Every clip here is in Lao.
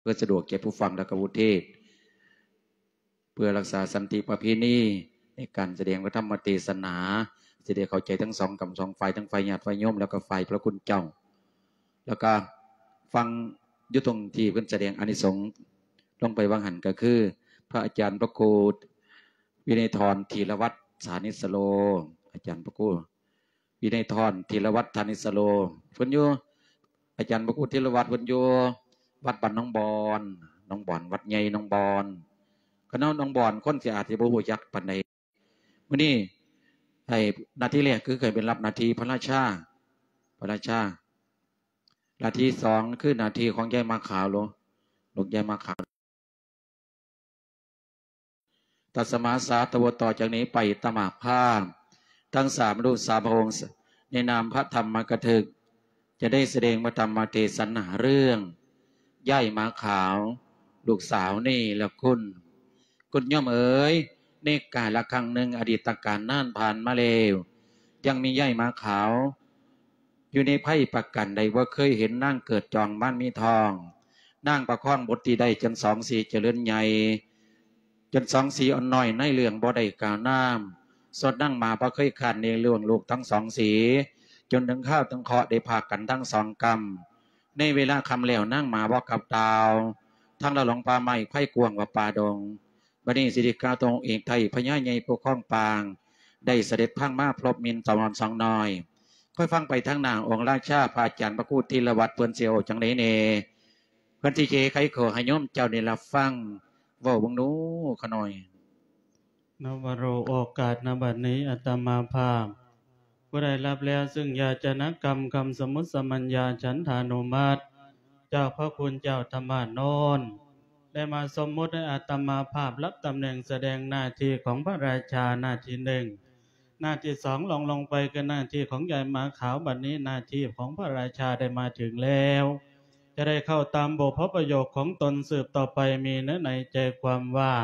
ພື່ອສະດວກແກ່ຜູ້ຟັງ ແລະ ກະຜູ້ເທດ ເພື່ອຮັກສາສັນຕິປະເພນີໃນການສະແດງພະທຳມະເທສະໜາ ຊິໄດ້ເຂົ້າໃຈທັງສອງກຳສອງຝ່າຍ ທັງຝ່າຍຍາດຝ່າຍໂຍມ ແລ້ວກໍຝ່າຍພະຄຸນເຈົ້າ. ແລ້ວກໍຟັງຢູ່ຕົງທີ່ເພິ່ນສະແດງອານິສົງລົງໄປວ່າງຫັ້ນ ກໍຄື ພະອາຈານພະຄູວິໄນທອນ ທີລະວັດ ສານິດສະໂລ, ອາຈານພະຄູ ວິໄນທອນ ທີລະວັດ ທານິດສະໂລ ເພິ່ນຢູ່ ອາຈານພະຄູທີລະວັດ ເພິ່ນຢູ່ວັດບ້ານໜອງບອນ, ໜອງບອນ ວັດໃຫຍ່ໜອງບອນ. ຄະນະໜອງບອນ ຄົນຊິອາດຊິບໍ່ຮູ້ຈັກປານໃດ. ມື້ນີ້ໃຫ້ໜ້າທີ່ແລກຄືໃຫ້ເປັນຮັບໜ້າທີ່ພະລາຊາ, ພະລາຊາ. ໜ້າທີ່ສອງຄືໜ້າທີ່ຂອງຍາຍໝາກຂາວ ລູກ ລູກຍາຍໝາກຂາວ. ຕັດສະມາສາທະວະ ຕໍ່ຈາກນີ້ໄປ ອາດຕະມາພາບ ທັງສາມລູກສາມພະອົງ ໃນນາມພະທຳມະກະທຶກ ຈະໄດ້ສະແດງພະທຳມະເທສະໜາເລື່ອງ ຍາຍໝາກຂາວ ລູກສາວເນລະຄຸນ. ຄຸນໂຍມເອີຍ, ໃນກາລະຄັ້ງໜຶ່ງ ອະດີດຕະການນານຜ່ານມາແລ້ວ, ຍັງມີຍາຍໝາກຂາວ ຢູ່ໃນໄພປະການໃດ ບໍ່ເຄີຍເຫັນນາງເກີດຈອງມານມີທອງ. ນາງປະຄອງບຸດທີ່ໄດ້ຈົນສອງສີຈະເລີນໃຫຍ່, ຈົນສອງສີອ່ອນນ້ອຍໃນເລື່ອງບໍ່ໄດ້ກ້າວນາມ. ສົດນາງໝາບໍ່ເຄີຍຄ້ານໃນເລື່ອງລູກທັງສອງສີ, ຈົນເຖິງຄາວເຖິງເຄາະໄດ້ພາກກັນທັງສອງກຳ. ໃນເວລາຄ່ຳແລ້ວນາງໝາບໍ່ກັບດາວ, ທາງລະຫຼົງປ່າໄມ້ ໄພກວ້າງກວ່າປ່າດົງ. ບັດນີ້ຊິໄດ້ກ່າວຕໍ່ອົງເອກໄທ ພະຍາໃຫຍ່ຜູ້ຄອງປາງ ໄດ້ສະເດັດພັງມາພົບມິນສອງອອນສອງນ້ອຍ. ຄ່ອຍຟັງໄປທາງໜ້າອົງລາຊາ ພະອາຈານພະຄູທີລະວັດ ເພິ່ນຊິເວົ້າຈັ່ງໃດແດ່? ເພິ່ນຊິເຈໄຂຂໍ້ໃຫ້ໂຍມເຈົ້າໄດ້ຮັບຟັງ. ເວົ້າເບິ່ງດູຂະນ້ອຍ. ນະວະໂລ ໂອກາດນະບັດນີ້ ອາດຕະມາພາບ ຜູ້ໄດ້ຮັບແລ້ວ ຊຶ່ງຢາຈະນະກຳ ຄຳສົມມຸດສະມັນຍາ ສັນທານຸມັດ ຈາກພະຄຸນເຈົ້າທຳມານນນ ໄດ້ມາສົມມຸດໃຫ້ອາດຕະມາພາບ ຮັບຕຳແໜ່ງສະແດງໜ້າທີ່ຂອງພະລາຊາ ໜ້າທີ່ໜຶ່ງ, ໜ້າທີ່ສອງ ລອງລົງໄປຄືໜ້າທີ່ຂອງຍາຍໝາຂາວ. ບັດນີ້ໜ້າທີ່ຂອງພະລາຊາໄດ້ມາເຖິງແລ້ວ, ຈະໄດ້ເຂົ້າຕາມບົດພະປະໂຫຍກຂອງຕົນສືບຕໍ່ໄປ. ມີເນື້ອໃນໃຈຄວາມວ່າ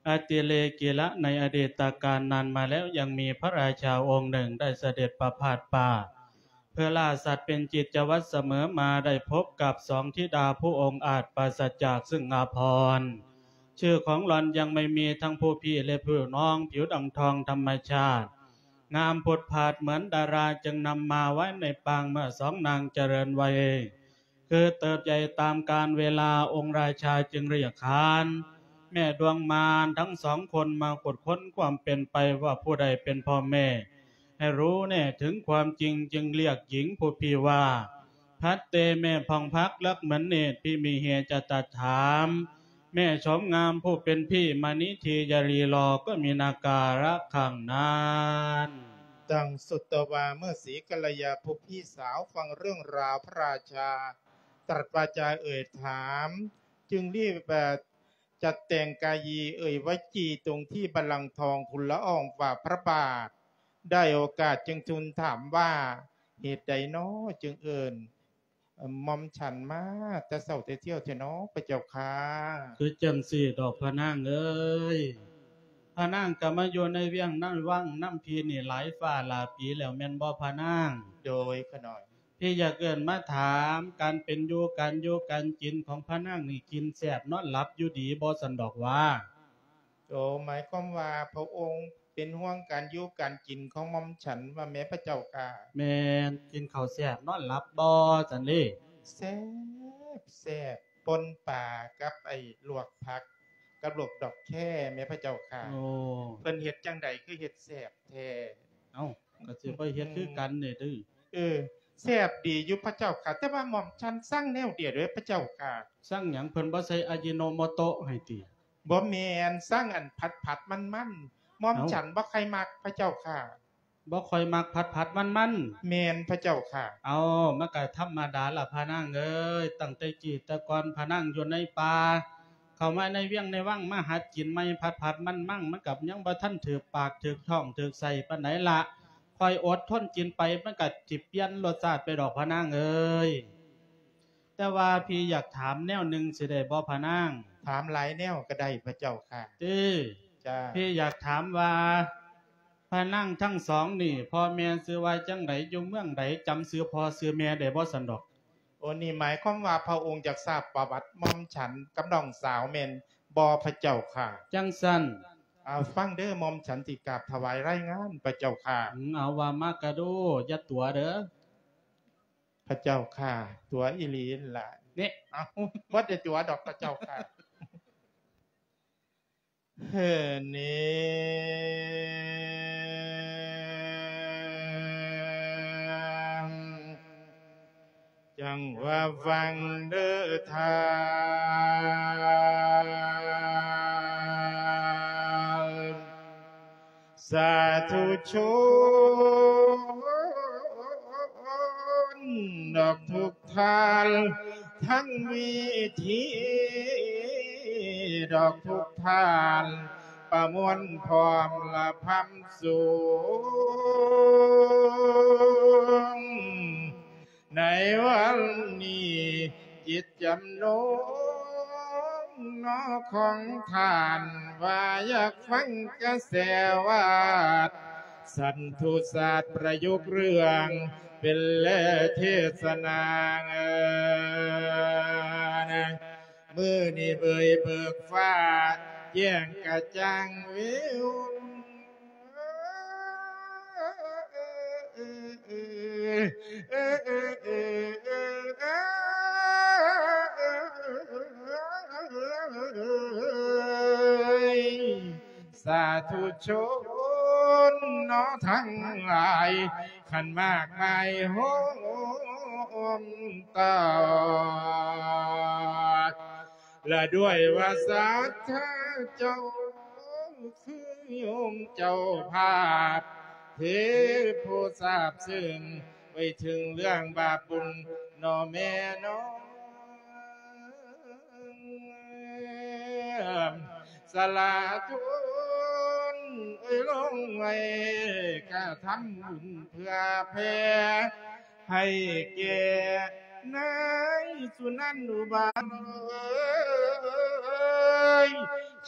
ອະຕິເລກິລະ ໃນອະດີດຕະການນານມາແລ້ວ ຍັງມີພະລາຊາອົງໜຶ່ງໄດ້ສະເດັດປະພາດປ່າ ເພື່ອລ່າສັດເປັນກິດຈະວັດສະເໝີມາ ໄດ້ພົບກັບສອງທິດາຜູ້ອົງອາດປາສະຈາກຊຶ່ງອາພອນ. ຊື່ຂອງຫຼອນຍັງໄມ່ມີ ທັງຜູ້ພີ່ ແລະ ຜູ້ນ້ອງ ຜິວດັງທອງທຳມະຊາດ ງາມຜຸດຜາດເໝືອນດາລາ ຈຶ່ງນຳມາໄວ້ໃນປາງເມື່ອສອງນາງຈະເລີນໄວ ຄືເຕີບໃຫຍ່ຕາມການເວລາ. ອົງລາຊາຈຶ່ງຮຽກຂານແມ່ດວງມານທັງສອງຄົນມາຂຸດຄົ້ນຄວາມເປັນໄປວ່າຜູ້ໃດເປັນພໍ່ແມ່ ໃຫ້ຮູ້ແນະເຖິງຄວາມຈິງ. ຈຶ່ງຮຽກຍິງຜູ້ພີ່ວ່າ ພັດເຕ ແມ່ຜ່ອງພັກ ລັກເໝືອນເນດ ພິມິເຫ ຈະຕັດຖາມ ແມ່ໂສມງາມຜູ້ເປັນພີ່ ມະນິທີຢາລີລໍ ກໍມີນາກາລະຄັ້ງນັ້ນ. ຕັງສຸດຕະວາ ເມື່ອສີກັນລະຍາຜູ້ພີ່ສາວຟັງເລື່ອງລາວພະລາຊາ ຕລັດວາຈາເອີ່ຍຖາມ ຈຶ່ງລີບ ເອີ່ ຈັດແຕ່ງກາຢີເອີ່ຍວະຈີ ຕົງທີ່ບັນລັງທອງທູນລະອອງຝ່າພະບາດ. ໄດ້ໂອກາດຈຶ່ງທູນຖາມວ່າ ເຫດໃດນໍຈຶ່ງເອີ້ນ ເອີ່ ໝ່ອມສັນມາແຕ່ເຊົ້າແຕ່ທ່ຽວແທ້ນໍ ພະເຈົ້າຂ້າ? ຄືຈັ່ງຊີ້ດອກພະນາງເອີຍ, ພະນາງກໍມາຢູ່ໃນວຽງໃນວັງນຳພີ່ນີ້ຫຼາຍຟ້າຫຼາຍປີແລ້ວແມ່ນບໍ່ພະນາງ? ໂດຍ ຂະນ້ອຍ. ພີ່ຢາກເອີ້ນມາຖາມການເປັນຢູ່ ການຢູ່ການກິນຂອງພະນາງນີ້ ກິນແຊບນອນຫຼັບຢູ່ດີບໍ່ຊັ້ນດອກຫວາ? ໂອ ໝາຍຄວາມວ່າພະອົງເປັນຫ່ວງການຢູ່ການກິນຂອງໝ່ອມສັນວ່າແມ່ ພະເຈົ້າຂ້າ? ແມ່ນ, ກິນເຂົ້າແຊບນອນຫຼັບບໍ່ຊັ້ນເດ? ແຊບ ແຊບ, ປົ່ນປາກັບໄອ້ລວກຜັກ ກັບລວກດອກແຄແມ່ ພະເຈົ້າຂ້າ. ໂອ້ ເພິ່ນເຮັດຈັ່ງໃດຄືເຮັດແຊບແທ້? ເອົ້າ ກໍຊິໄປເຮັດຄືກັນນີ້ຕິ. ເອີ ແຊບດີຢູ່ພະເຈົ້າຂ້າ, ແຕ່ວ່າໝ່ອມສັນສັ່ງແນວດຽວເດີ້ພະເຈົ້າຂ້າ. ສັ່ງຫຍັງ? ເພິ່ນບໍ່ໃສ່ອາຢິໂນໂມໂຕະໃຫ້ຕິ? ບໍ່ແມ່ນ, ສັ່ງອັນຜັດໆ ມັນໆ. ໝ່ອມ ເອົ້າ ສັນບໍ່ຄ່ອຍມັກພະເຈົ້າຂ້າ. ບໍ່ຄ່ອຍມັກຜັດໆ ມັນໆ? ແມ່ນພະເຈົ້າຂ້າ. ເອົ້າ ມັນກະທຳມະດາລະພະນາງເອີຍ, ຕັ້ງແຕ່ກີ້ແຕ່ກ່ອນພະນາງຢູ່ໃນປ່າ ເຂົ້າມາໃນວຽງໃນວັງ ມາຫັດກິນໃໝ່ ຜັດໆ ມັນໆ ມັນກໍຍັງບໍ່ທັນຖືກປາກ ຖືກທ້ອງ ຖືກໄສ້ປານໃດລະ. ຄ່ອຍອົດທົນກິນໄປ ມັນກໍຊິປ່ຽນລົດຊາດໄປດອກພະນາງເອີຍ. ແຕ່ວ່າພີ່ຢາກຖາມແນວໜຶ່ງ ຊິໄດ້ບໍ່ພະນາງ? ຖາມຫຼາຍແນວກໍໄດ້ພະເຈົ້າຂ້າ. ຕິ? ຈ້າ. ພີ່ຢາກຖາມວ່າ ພະນາງທັງສອງນີ້ ພໍ່ແມ່ຊື່ວ່າຈັ່ງໃດ? ຢູ່ເມືອງໃດ? ຈຳຊື່ພໍ່ຊື່ແມ່ໄດ້ບໍ່ຊັ້ນດອກ? ໂອ ນີ້ໝາຍຄວາມວ່າພະອົງຢາກຊາບປະຫວັດໝ່ອມສັນກັບນ້ອງສາວແມ່ນບໍ່ພະເຈົ້າຂ້າ? ຈັ່ງຊັ້ນ ອາ ຟັງເດີ້ ໝ່ອມສັນຊິກາບຖວາຍລາຍງານພະເຈົ້າຂ້າ. ອືມ ເອົາ ວ່າມາກະດູ ຢ່າຕົວະເດີ້. ພະເຈົ້າຂ້າ ຕົວະອີ່ຫຼີຫັ້ນລະ. ນີ້ ເອົ້າ ບໍ່ໄດ້ຕົວະດອກພະເຈົ້າຂ້າ. ເຮີ ນີ້ ຈັ່ງວ່າຟັງເດີ້ທ່ານ ສາທຸຊົນ ດອກທຸກທ່ານ ທັງເວທີ ດອກທຸກທ່ານ ປະມວນພ້ອມລະພຳສູງ ໃນວັນນີ້ ຈິດຈຳນົງເນາະຂອງທ່ານ ວ່າຢາກຟັງກະແສວາດ ສັນທຸສາດປະຍຸກເລື່ອງ ເປັນແລເທດສະໜາ ມື້ນີ້ເບີຍເບີກຟ້າ ແຈ້ງກະຈ່າງວິວ ສາທຸຊົນເນາະທັງຫຼາຍ ຄັນມາກມາຍໂຮມຕໍ່ ລະດ້ວຍວ່າສັດທະເຈົ້າ ຄືໂຍມເຈົ້າພາບ ເທໂພຊາບເຊິ່ງ ໄປເຖິງເລື່ອງບາບບຸນເນາະແມ່ເນາະ ສະຫຼາທຸນເອີຍ ລົງໄວ້ກະທຳບຸນເພື່ອແຜ່ ໃຫ້ແກ່ນາຍສຸນັນອຸບາ ເອີຍ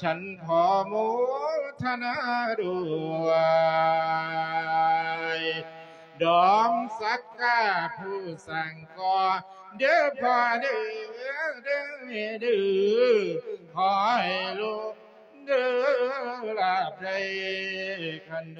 ສັນຂໍໂມທະນາດ້ວຍ ດອມສັກກາຜູ້ສ້າງກໍ່ ເດີພໍ່ເດີ ເດີແມ່ເດີ ຂໍໃຫ້ລູກເດີລາບໄດ້ຄັນ ນ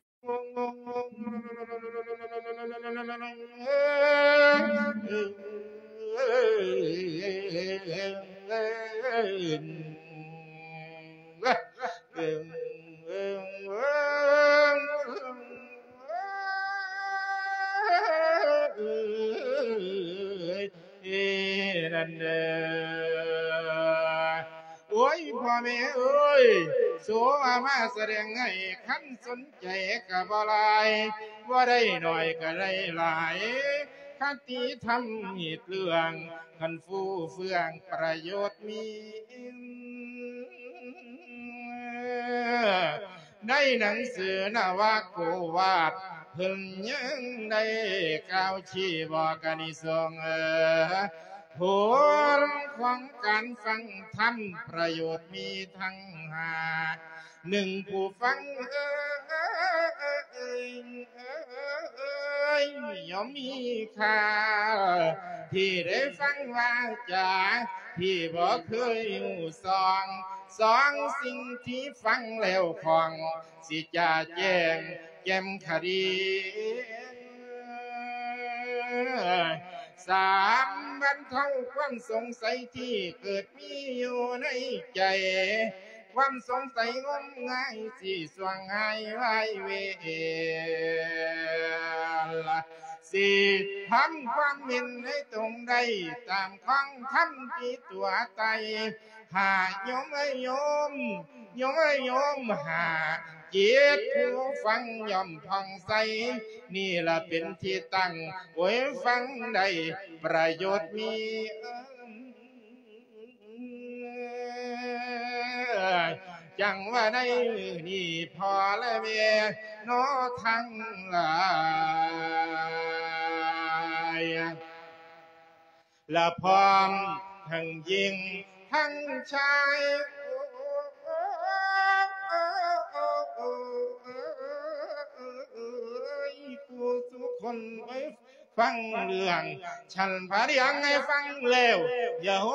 ັ້ນເດີ ໂອ້ຍ ພໍ່ແມ່ເອີຍ ໂສວ່າມາສະແດງໃຫ້ ຄັນສົນໃຈກະບໍ່ຫຼາຍ ບໍ່ໄດ້ໜ້ອຍກະໄດ້ຫຼາຍ ຄະຕິທຳເຫດເລື່ອງ ຄັນຟູເຟືອງປະໂຫຍດມີ ໃນໜັງສືນະວະໂກວາດ ເພິ່ນຍັງໄດ້ກ່າວຊີ້ບອກອານິສົງ ເອີ ຜົນຂອງການຟັງທຳປະໂຫຍດມີທັງຫ້າ ໜຶ່ງ ຜູ້ຟັງເອີຍ ເອີຍ ຍ່ອມມີຄ່າ ທີ່ໄດ້ຟັງວາຈາ ທີ່ບໍ່ເຄີຍຮູ້ຊ່ອງ ສອງ ສິ່ງທີ່ຟັງແລ້ວຄ່ອງ ຊິຈະແຈ້ງແຈ່ມຄະດີ ສາມ ບັນເທົາຄວາມສົງໄສທີ່ເກີດມີຢູ່ໃນໃຈ ຄວາມສົງໄສງົມງາຍຊິຊ່ວງຫາຍວາຍເວ ຊິທຳຄວາມເຫັນໃຫ້ຕົງໄດ້ ຕາມຂອງທຳທີ່ຕົວະໄຕ ຫ້າ ໂຍມເອີຍໂຍມ ໂຍມເອີຍໂຍມ ຫ້າ ຈິດຜູ້ຟັງຍ່ອມຜ່ອງໃສ ນີ້ລະເປັນທີ່ຕັ້ງ ໂອຍ ຟັງໄດ້ປະໂຫຍດມີ ຈັ່ງວ່າໃນມື້ນີ້ພໍ່ແລະແມ່ເນາະທັງຫຼາຍ ລະພ້ອມທັງຍິງທັງຊາຍ ຜູ້ສູ່ຄົນ ເອີຍ ຟັງເລື່ອງ ຊັ້ນພະເລື່ອງໃຫ້ຟັງແລ້ວ ຢ່າໂຮ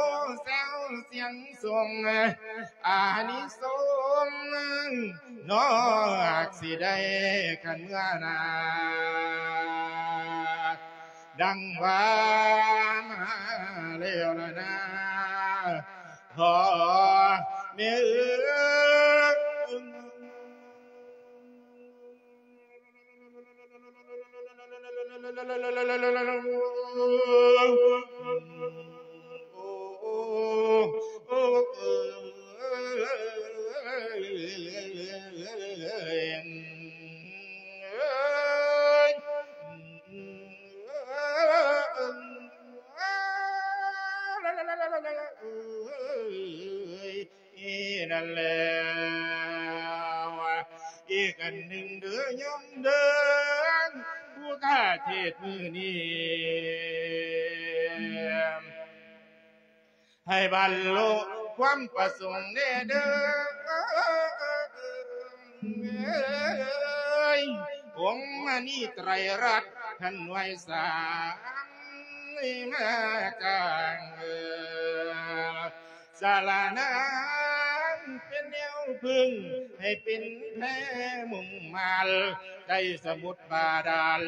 ແຊວສຽງສົງ ອານິສົງເນາະ ຫາກຊິໄດ້ຄັນເມື່ອໜ້າ ດັ່ງວ່າມາແລ້ວລະນາ ພໍ່ແມ່ເອີຍ. ນັ້ນແລ້ວ ອີກອັນໜຶ່ງເດີໂຍມເດີ ຜູ້ຂ້າເທດມື້ນີ້ ໃຫ້ບັນລຸຄວາມປະສົງແດ່ເດີ ອົງມະນີໄຕຣລັດ ທ່ານໄຫວ້ສາມມາກາງ ສາລະນາງເປັນແນວເພິ່ງ ໃຫ້ເປັນແພມຸງມານ ໃນສະໝຸດບາດານ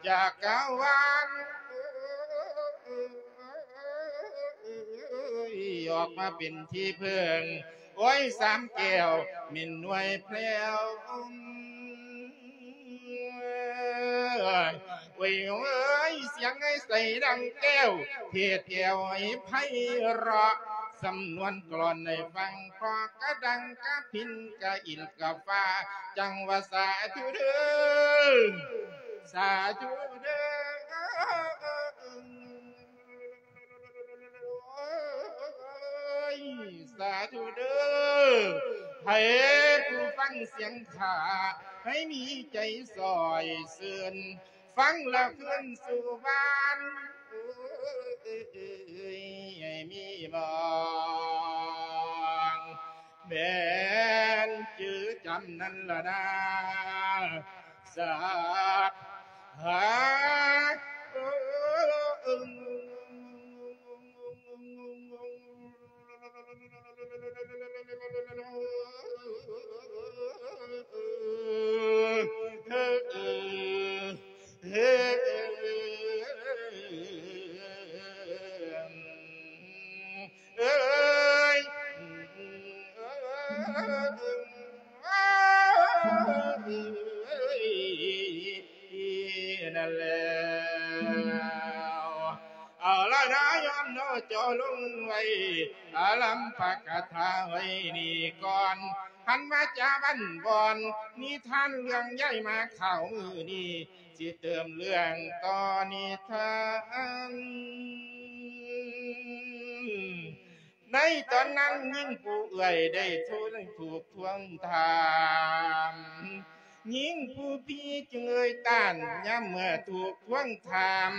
ຈັກກະວານ ອອກມາເປັນທີ່ເພິ່ງ ໂອ້ຍ ສາມແກ້ວແມ່ນໜ່ວຍແພ້ວ ໂອ້ຍເອີຍ ສຽງໃຫ້ໃສດັ່ງແກ້ວ ເທດແກ້ວໃຫ້ໄພເຣາະ ສຳນວນກລອນໃຫ້ຟັງເພາະ ກະດັງກະພິນກະອິນກະຟ້າ ຈັ່ງວ່າສາທຸເດີ ສາທຸເດີ ໂອ້ຍ ສາທຸເດີ ໃຫ້ຜູ້ຟັງສຽງຂ້າ ໃຫ້ມີໃຈຊ່ອຍຊື່ນ ຟັງແລ້ວຄືນສູ່ບ້ານ ເອີຍ ໃຫ້ມີໝອງ ແມ່ນຈື່ຈຳນັ້ນລະນາ ສາ ຫາ ເອີຍ ນັ້ນແລ້ວ ເອົາລະນະ ຍອມເນາະ ເຈົ້າລົງໄວ້ ອາລຳພະກະຖາໄວ້ນີ້ກ່ອນ ຫັນມາຈາບ້ານບ່ອນ ນິທານເລື່ອງຍາຍໝາຂາວມື້ນີ້ ຊິເຕີມເລື່ອງຕໍ່ນິທານ ໃນຕອນນັ້ນຍິງຜູ້ເອື້ອຍໄດ້ທູກທວງຖາມ ຍິງຜູ້ພີ່ຈຶ່ງເອີ່ຍຕ້ານ ຍາມເມື່ອຖືກທວງຖາມ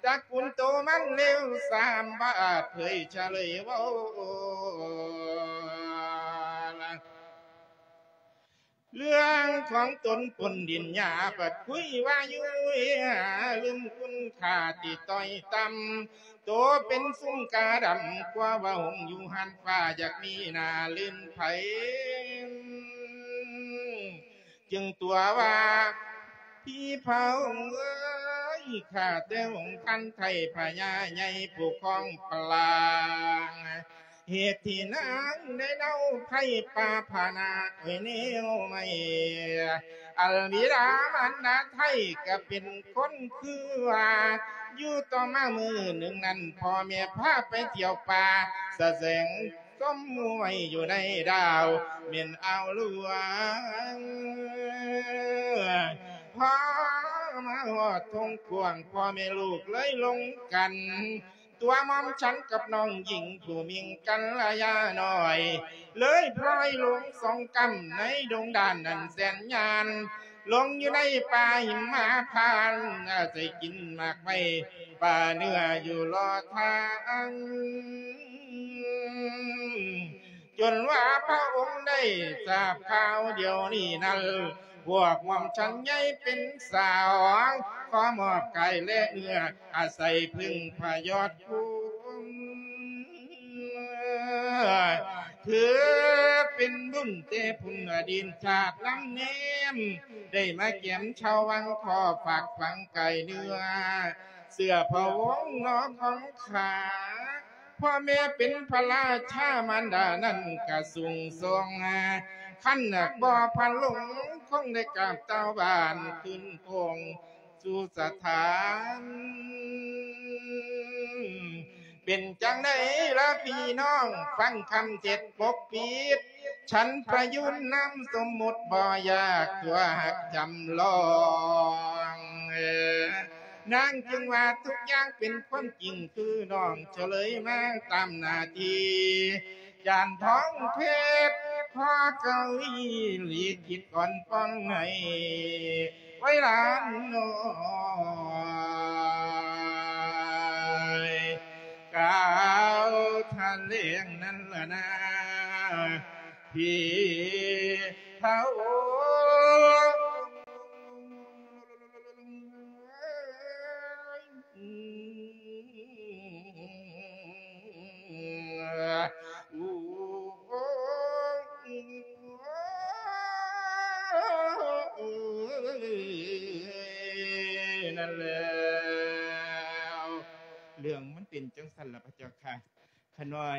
ຕະກຸນໂຕມັນເລວຊາມ ບໍ່ອາດເຜີຍສະເລີຍເວົ້າ ເລື່ອງຂອງຕົນປົນດິນຫຍ້າ ບັດຄຸຍວ່າຢູ່ເຫືອ ລືມຄຸນຄ່າທີ່ຕ້ອຍຕ່ຳ ໂຕເປັນຊຸມກາດຳ ກວ່າວ່າຫົງຢູ່ຫັ້ນຟ້າ ຢາກມີໜ້າລື່ນໃຜ ຈຶ່ງຕົວະວ່າ ພີ່ພະອົງເອີຍ ຂ້າແຕ່ອົງທ່ານໄທພະຍາໃຫຍ່ຜູ້ຄອງປາງ ເຫດທີ່ນາງໄດ້ເນົາໄພປາພະນາ ໂອ້ຍ ແນວໃໝ່ ອັນບິດາມານດາໄທກະເປັນຄົນຄືວ່າ ຢູ່ຕໍ່ມາມື້ໜຶ່ງນັ້ນ ພໍ່ແມ່ພາໄປທ່ຽວປ່າ ສະແສງຊົມມວຍຢູ່ໃນດາວ ແມ່ນອ່າວຫຼວງ ພໍມາຮອດທົ່ງກວ້າງ ພໍ່ແມ່ລູກເລີຍລົງກັນ ຕົວໝ່ອມສັນກັບນ້ອງຍິງຜູ້ມິ່ງກັນລະຍານ້ອຍ ເລີຍພລອຍຫຼົງສອງກຳໃນດົງດານອັນແສນຍານ ຫຼົງຢູ່ໃນປ່າຫິມມະພານ ອາໄສກິນໝາກໄມ້ປ່າເນື້ອຢູ່ລໍທາງ ຈົນວ່າພະອົງໄດ້ຊາບຂ່າວດຽວນີ້ນັ້ນ ພວກໝ່ອມສັນໃຫຍ່ເປັນສາວ ຂໍມອບກາຍແລະເນື້ອ ອາໄສເພິ່ງພະຍອດຄຸນ ຖືເປັນບຸນແຕ່ພຸ້ນອະດີດຊາດນຳແນມ ໄດ້ມາແກ້ມຊາວວັງ ຂໍຝາກຝັງກາຍເນື້ອ ເຊື່ອພະວົງເນາະຂອງຂ້າ ພໍ່ແມ່ເປັນພະລາຊາ ມານດານັ້ນກະສູງສົ່ງ ຄັນຫາກບໍ່ພັນຫຼົງ ຄົງໄດ້ກາບຕາວບານຄືນໂຄງສູ່ສະຖານ. ເປັນຈັ່ງໃດລະພີ່ນ້ອງ ຟັງຄຳເທດປົກປິດ ສັນປະຍຸນນາມສົມມຸດບໍ່ຢາກຕົວະຮັກຈຳລອງ ນາງຈຶ່ງວ່າທຸກຢ່າງເປັນຄວາມຈິງ ຄືນ້ອງສະເລີຍມາຕາມໜ້າທີ່ ຈານທອງເພດ ຂໍເກົ້າອີ່ຫຼີຄິດກ່ອນປ້ອງໃຫ້ໄວລານນ້ອຍ ກ່າວຖະແຫຼງນັ້ນລະນາ ພີ່ເຖົ້າ. ນັ້ນແລ້ວ ເລື່ອງມັນເປັນຈັ່ງຊັ້ນລະພະເຈົ້າຂ້າ. ຂ້ານ້ອຍ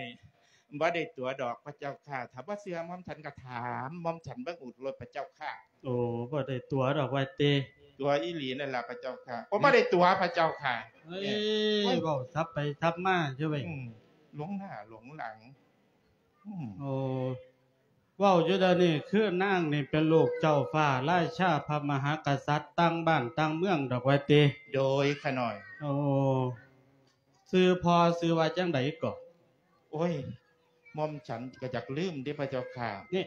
ບໍ່ໄດ້ຕົວະດອກພະເຈົ້າຂ້າ ຖ້າບໍ່ເຊື່ອໝ່ອມສັນກໍຖາມໝ່ອມສັນເບິ່ງໂລດພະເຈົ້າຂ້າ. ໂອ້ ບໍ່ໄດ້ຕົວະດອກວ່າຕິ. ຕົວະອີ່ຫຼີນັ້ນລະພະເຈົ້າຂ້າ. ໂອ້ ບໍ່ໄດ້ຕົວະພະເຈົ້າຂ້າ. ເອີຍ ເວົ້າສັບໄປສັບມາຢູ່ເວີຍ. ອືມ ຫຼົງໜ້າຫຼົງຫຼັງ. ອືມ ໂອ້ ເວົ້າຢູ່ດຽວນີ້ຄືນາງນີ້ເປັນລູກເຈົ້າຟ້າລາຊາພະມະຫາກະສັດຕ່າງບ້ານຕ່າງເມືອງດອກວ່າຕິ. ໂດຍ ຂ້ານ້ອຍ. ໂອ້ ຊື່ພໍ່ຊື່ວ່າຈັ່ງໃດເກາະ? ໂອ້ຍ ໝ່ອມສັນກໍຢາກລືມເດ້ພະເຈົ້າຂ້າ. ນີ້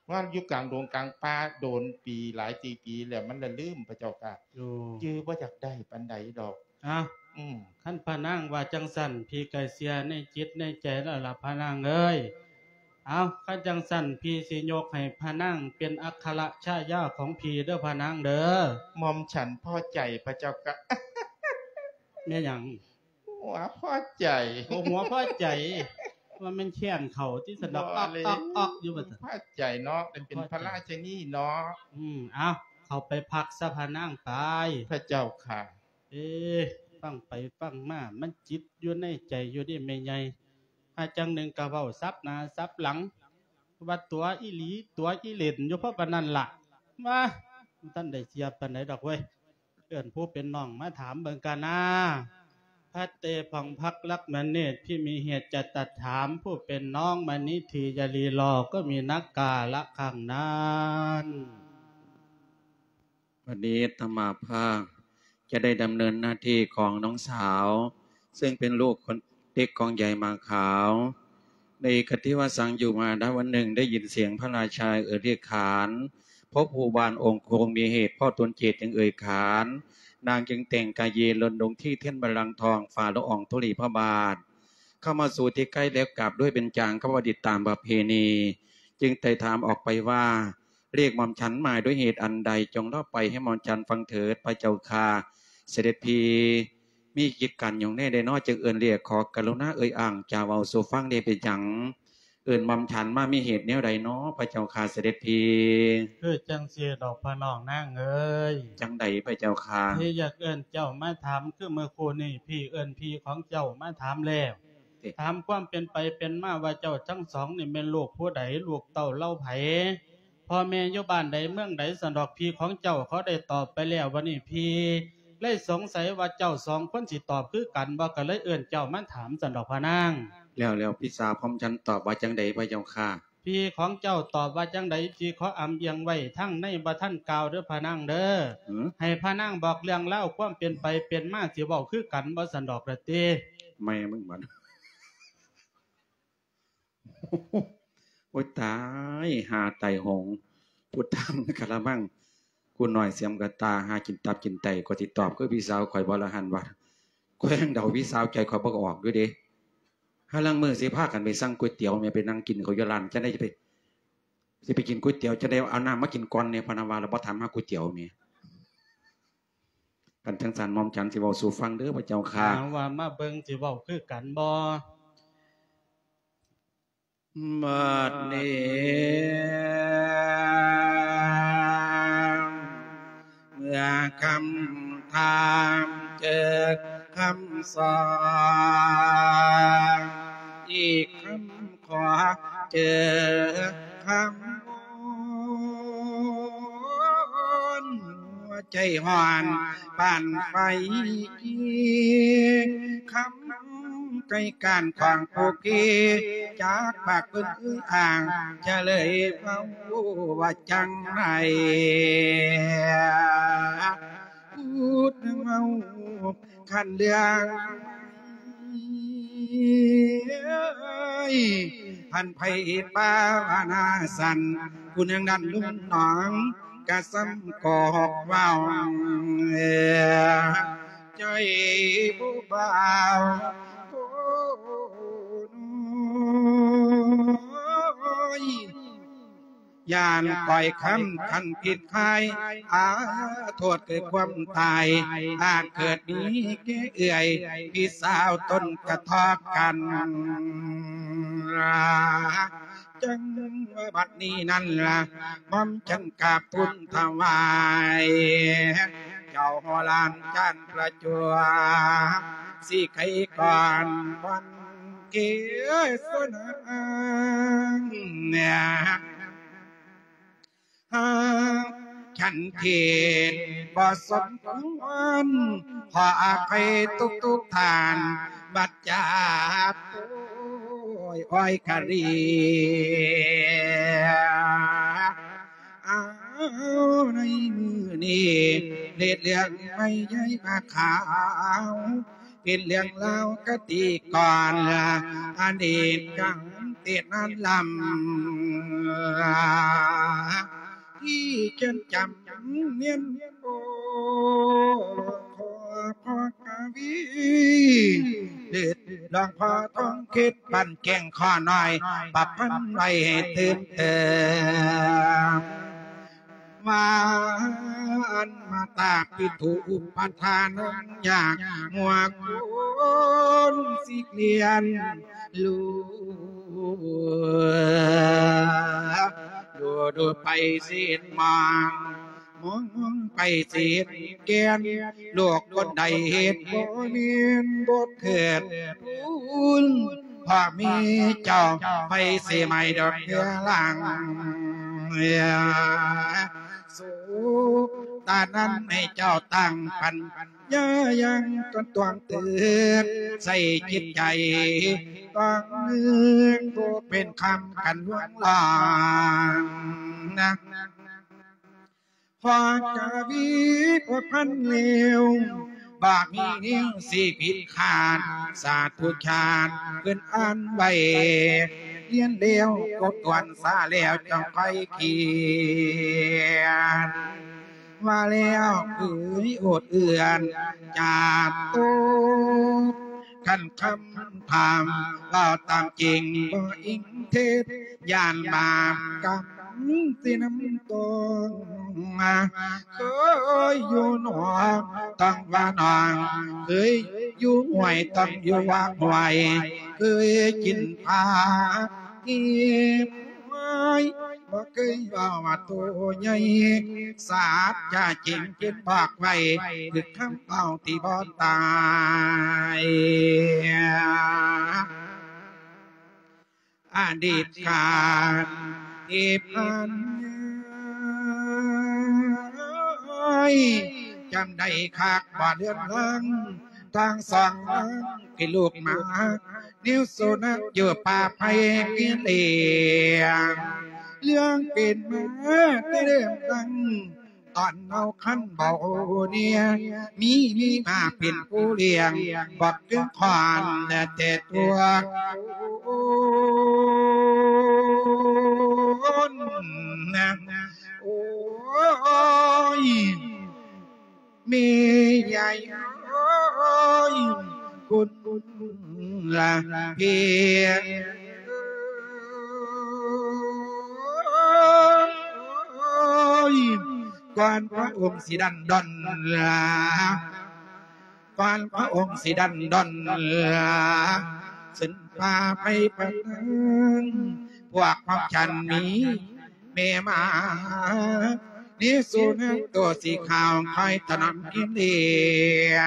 ວ່າຢູ່ກາງດົງກາງປ່າໂດນປີ ຫຼາຍປີແລ້ວ ມັນລະລືມພະເຈົ້າຂ້າ. ໂອ້ ຈື່ບໍ່ຢາກໄດ້ປານໃດດອກ. ອ້າວ ອືມ ຄັນພະນາງວ່າຈັ່ງຊັ້ນ ພີ່ກໍເຊື່ອໃນຈິດໃນໃຈແລ້ວລະພະນາງເອີຍ. ເອົາ ຄັນຈັ່ງຊັ້ນ ພີ່ຊິຍົກໃຫ້ພະນາງເປັນອັກຂະລະຊາຍາຂອງພີ່ເດີພະນາງເດີ. ໝ່ອມສັນພໍໃຈພະເຈົ້າກະ. ແມ່ນຫຍັງ? ຫົວພໍໃຈ. ໂອ້ ຫົວພໍໃຈ ວ່າແມ່ນແຂ້ງເຂົ້າຕິ ສະດອກ ອອກ ອອກ ອອກຢູ່ວ່າຊັ້ນ. ພໍໃຈເນາະ ໄດ້ເປັນພະລາຊະນີເນາະ. ອືມ ເອົາ ເຂົ້າໄປພັກຊະພະນາງໄປ. ພະເຈົ້າຂ້າ. ເອ ຟັງໄປຟັງມາ ມັນຈິດຢູ່ໃນໃຈຢູ່ເດ້ແມ່ໃຫຍ່ ຫາຈັ່ງໜຶ່ງກະເວົ້າສັບໜ້າສັບຫຼັງ ວ່າຕົວະອີ່ຫຼີຕົວະອີ່ເຫຼັ້ນຢູ່ພໍປານນັ້ນລະ. ມາ ບໍ່ທັນໄດ້ເຊື່ອປານໃດດອກເວີຍ. ເອີ້ນຜູ້ເປັນນ້ອງມາຖາມເບິ່ງກະນາ. ພັດເຕ ຜ່ອງພັກລັກມະເນດ ພິມີເຫດຈະຕັດຖາມ ຜູ້ເປັນນ້ອງມະນິທີຢ່າລີລໍ ກໍມີນັກກາລະຄັ້ງນັ້ນ. ວັນນີ້ອາດຕະມາພາບຈະໄດ້ດຳເນີນໜ້າທີ່ຂອງນ້ອງສາວ ເຊິ່ງເປັນລູກຄົນເລັກຂອງຍາຍໝາຂາວ. ໃນກະທິວະສັງຢູ່ມາ ນະວັນໜຶ່ງໄດ້ຍິນສຽງພະລາຊາເອີ່ຍຮຽກຂານ ພວກຜູ້ບ້ານອົງຄົງມີເຫດພໍ່ຕົນເຈດຈຶ່ງເອີ່ຍຂານ ນາງຈຶ່ງແຕ່ງກາຍເຢລົນລົງທີ່ເທິງບັນລັງທອງ ຝາລະອອງທຸລີພະບາດ ເຂົ້າມາສູ່ທີ່ໃກ້ແລ້ວກາບດ້ວຍເບັນຈາງຄະວາດິດຕາມປະເພນີ ຈຶ່ງໄຕ່ຖາມອອກໄປວ່າ ລຽກໝ່ອມສັນມາດ້ວຍເຫດອັນໃດ? ຈົ່ງເລົ່າໄປໃຫ້ໝ່ອມສັນຟັງເຖີດ ພະເຈົ້າຂ້າ. ສະເດັດພີ່ ມີກິດການຫຍັງແດ່ໃດນໍ ຈຶ່ງເອີ້ນລຽກ? ຂໍກະລຸນາເອີ່ຍອ້າງຈາເວົ້າສູ່ຟັງແດ່ ເປັນຫຍັງເອີ້ນໝ່ອມສັນມາ ມີເຫດແນວໃດນໍ ພະເຈົ້າຂ້າ ສະເດັດພີ່? ຄືຈັ່ງຊີ້ດອກພະນ້ອງນາງເອີຍ. ຈັ່ງໃດພະເຈົ້າຂ້າ? ທີ່ຢາກເອີ້ນເຈົ້າມາຖາມ ຄືເມື່ອຄູ່ນີ້ພີ່ເອີ້ນພີ່ຂອງເຈົ້າມາຖາມແລ້ວ ເອີ ຖາມຄວາມເປັນໄປເປັນມາວ່າເຈົ້າທັງສອງນີ້ແມ່ນລູກຜູ້ໃດ ລູກເຕົ້າເຫຼົ່າໃຜ? ພໍ່ແມ່ຢູ່ບ້ານໃດເມືອງໃດ? ຊັ້ນດອກ ພີ່ຂອງເຈົ້າເຂົາໄດ້ຕອບໄປແລ້ວ ບັດນີ້ພີ່ເລີຍສົງໄສວ່າເຈົ້າສອງຄົນຊິຕອບຄືກັນບໍ່ ກໍເລີຍເອີ້ນເຈົ້າມາຖາມ ຊັ້ນດອກພະນາງ. ແລ້ວ ແລ້ວພີ່ສາວຂອງໝ່ອມສັນຕອບວ່າຈັ່ງໃດພະເຈົ້າຂ້າ? ພີ່ຂອງເຈົ້າຕອບວ່າຈັ່ງໃດ ພີ່ຂໍອຳອຽງໄວ້ທາງໃນ ບໍ່ທັນກ່າວເດີພະນາງເດີ. ຫື? ໃຫ້ພະນາງບອກເລື່ອງລາວຄວາມເປັນໄປເປັນມາ ຊິເວົ້າຄືກັນບໍ່ ຊັ້ນດອກລະຕິ. ແມ່ມຶງບັດ ໂອ້ຍຕາຍ ຫາຕາຍໂຫງ ພຸດທັງກະລະມັງ ຄູນ້ອຍສຽມກະຕ່າ ຫາກິນຕັບກິນໄຕ ກໍຊິຕອບຄືພີ່ສາວຂ້ອຍບໍ່ລະຫັ້ນວ່າ ຂ້ອຍຍັງເດົາພີ່ສາວໃຈຂ້ອຍບໍ່ອອກຢູ່ເດ້. ຫາລາງມື້ຊິພາກັນໄປສັ່ງກ໋ວຍຕຽວແມ່ ໄປນັ່ງກິນເຂົ້າຢູ່ຮ້ານ ຈັ່ງໃດຊິໄປ ຊິໄປກິນກ໋ວຍຕຽວ ຈັ່ງໃດເອົານ້ຳມາກິນກ່ອນແດ່ ພະນະວ່າ ລະບໍ່ຖາມຫາກ໋ວຍຕຽວແມ່. ຄັນຈັ່ງຊັ້ນ ໝ່ອມສັນຊິເວົ້າສູ່ຟັງເດີພະເຈົ້າຂ້າ. ຖາມວ່າມາເບິ່ງຊິເວົ້າຄືກັນບໍ່? ບັດນີ້ເມື່ອຄຳຖາມເຈີຄຳສອນ ອີກຄຳຂໍເຈີຄຳວົນ ຫົວໃຈຮ້ອນປານໄຟ ຄຳໃກ້ການຂອງຜູ້ທີ່ຈາກປາກເພິ່ນອຶ່ງອ່າງ ຈະເລີຍເວົ້າວ່າຈັ່ງໃດ ພູດເວົ້າ ຄັນເລື່ອງ ພັນໄພປາວະນາສັນ ຜູ້ໜຶ່ງນັ້ນລຸງໜອງ ກະສ່ຳກອກເວົ້າ ໃຈຜູ້ບ່າວ ໂອ້ຍ ຢ້ານຂ້ອຍຄຳຄັນຜິດຄາຍ ອາ ໂທດເກີດຄວາມຕາຍ ອາດເກີດມີແກ່ເອື້ອຍ ພີ່ສາວຕົນກະທອກກັນ ຈັ່ງວ່າບັດນີ້ນັ້ນລະ ໝ່ອມຈັນກາບທູນຖວາຍ ເຈົ້າຫໍລານຈານປະຈົວ ຊິໄຂກ່ອນວັນເກສນາ ຫາກສັນເທດບໍ່ສົມຄວນ ຂໍອະໄພທຸກໆທ່ານ ບັດຈາໂອ້ຍອ້ອຍກະເລຍ ອ້າວ ໃນມື້ນີ້ ເລດເລື່ອງໃໝ່ໃຫຍ່ມາຂາວ ເປັນເລື່ອງລາວຄະຕິກອນ ອະດີດການເຕະນານລຳ ທີ່ເຂີນຈຳນຽນໂອ ຂໍພໍ່ກະວີ ເລີດຫຼວງພໍ່ທອງເຂດບ້ານແກ້ງຂໍນ້ອຍ ປະພັນໄວ້ຕື່ມເຕີມ ວ່າອັນມາຕາປິຖຸອຸປະທານ ຍາກງົວໂກນຊິກລຽນ ລູ ດູດູໄປຊິເຫັນມອງ ມອງໄປຊິເຫັນແກ່ນ ລູກຄົນໃດເຮັດບໍ່ແມ່ນບໍ່ເກີດບຸນ ພໍ່ມີເຈົ້າໄປຊິໄໝດອກເຮືອຫຼັງ ສຸກຕານັ້ນໃຫ້ເຈົ້າຕັ້ງປັນ ຢ່າຍັງຕົນຕວງຕື່ນ ໃສ່ຈິດໃຈຕ້ອງນຶກ ຜູ້ເປັນຄຳກັນລວງລອງນະ ພໍກະວີປະພັນແລ້ວ ບໍ່ມີແນວຊິຜິດຂາດ ສາທຸຊາດເພິ່ນອ່ານໄວ້ ຮຽນແລ້ວທົບທວນສາແລ້ວຈັ່ງຄ່ອຍຂຽນ ວ່າແລ້ວເອີຍໂອດເອື້ອນຈາດໂຕ ຄັນຄຳຖາມເວົ້າຕາມຈິງບໍ່ອີງເທັດ ຢ້ານບາບກຳຊິນຳຕົງ ເຄີຍຢູ່ໜອງຕ້ອງວ່າໜອງ ເຄີຍຢູ່ຫ້ວຍຕ້ອງຢູ່ວ່າຫ້ວຍ ເຄີຍກິນຜັກກິນຫວາຍ ບໍ່ເຄີຍເວົ້າວ່າໂຕໃຫຍ່ ສາດຈາຈິງເພິ່ນບອກໄວ້ ຄືຄຳເວົ້າທີ່ບໍ່ຕາຍ ອະດີດການທີ່ຜ່ານມາ ຈຳໄດ້ຄັກບໍ່ເລື່ອນລາງ ທັງສອງນາງທີ່ລູກມາ ແນວສຸນັກຢູ່ປ່າໄຜ່ເປັນເອງ ເລື່ອງເປັນມາແຕ່ເລີ່ມຕັ້ງ ຕອນເຮົາຄັນເບົາເນຍ ມີ ມີມາເປັນຜູ້ລ້ຽງ ບັກເຖິງຄອນແຕ່ຕົວ ໂອ້ຍ ໂອ້ຍ ແມ່ຍາຍເອີຍ ຄຸນລະເພຍ ກ່ອນພະອົງຊິດັນດອນລາ ກ່ອນພະອົງຊິດັນດອນ ຂຶ້ນຟ້າໄປປະເທີງ ພວກຂອງສັນມີແມ່ມາ ນີ້ສູ່ນາງໂຕສີຂາວ ຄອຍຖະໜອມກິນເລຍ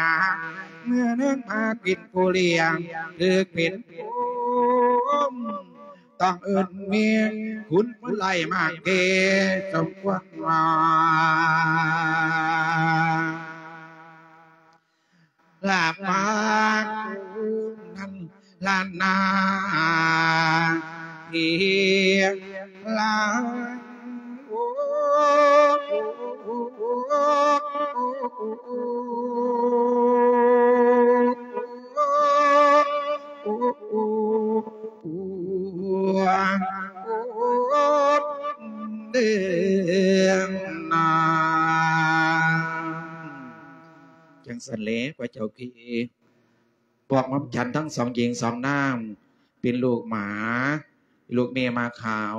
ເມື່ອນາງມາເປັນຜູ້ລ້ຽງ ຖືກເປັນຜູ້ ຕ້ອງເອີ້ນແມ່ ຄຸນຜູ້ໄຫຼມາກເກ ສົມຄວນວ່າ ລາບມານັ້ນລ້ານນາ ເພລາ ໂອ້ ເດງນາ ຈັ່ງຊັ້ນແຫຼະ ພະເຈົ້າພີ ພວກໝໍ້າຈັນທັງສອງຍິງສອງນາງ ເປັນລູກໝາ ລູກແມ່ໝາຂາວ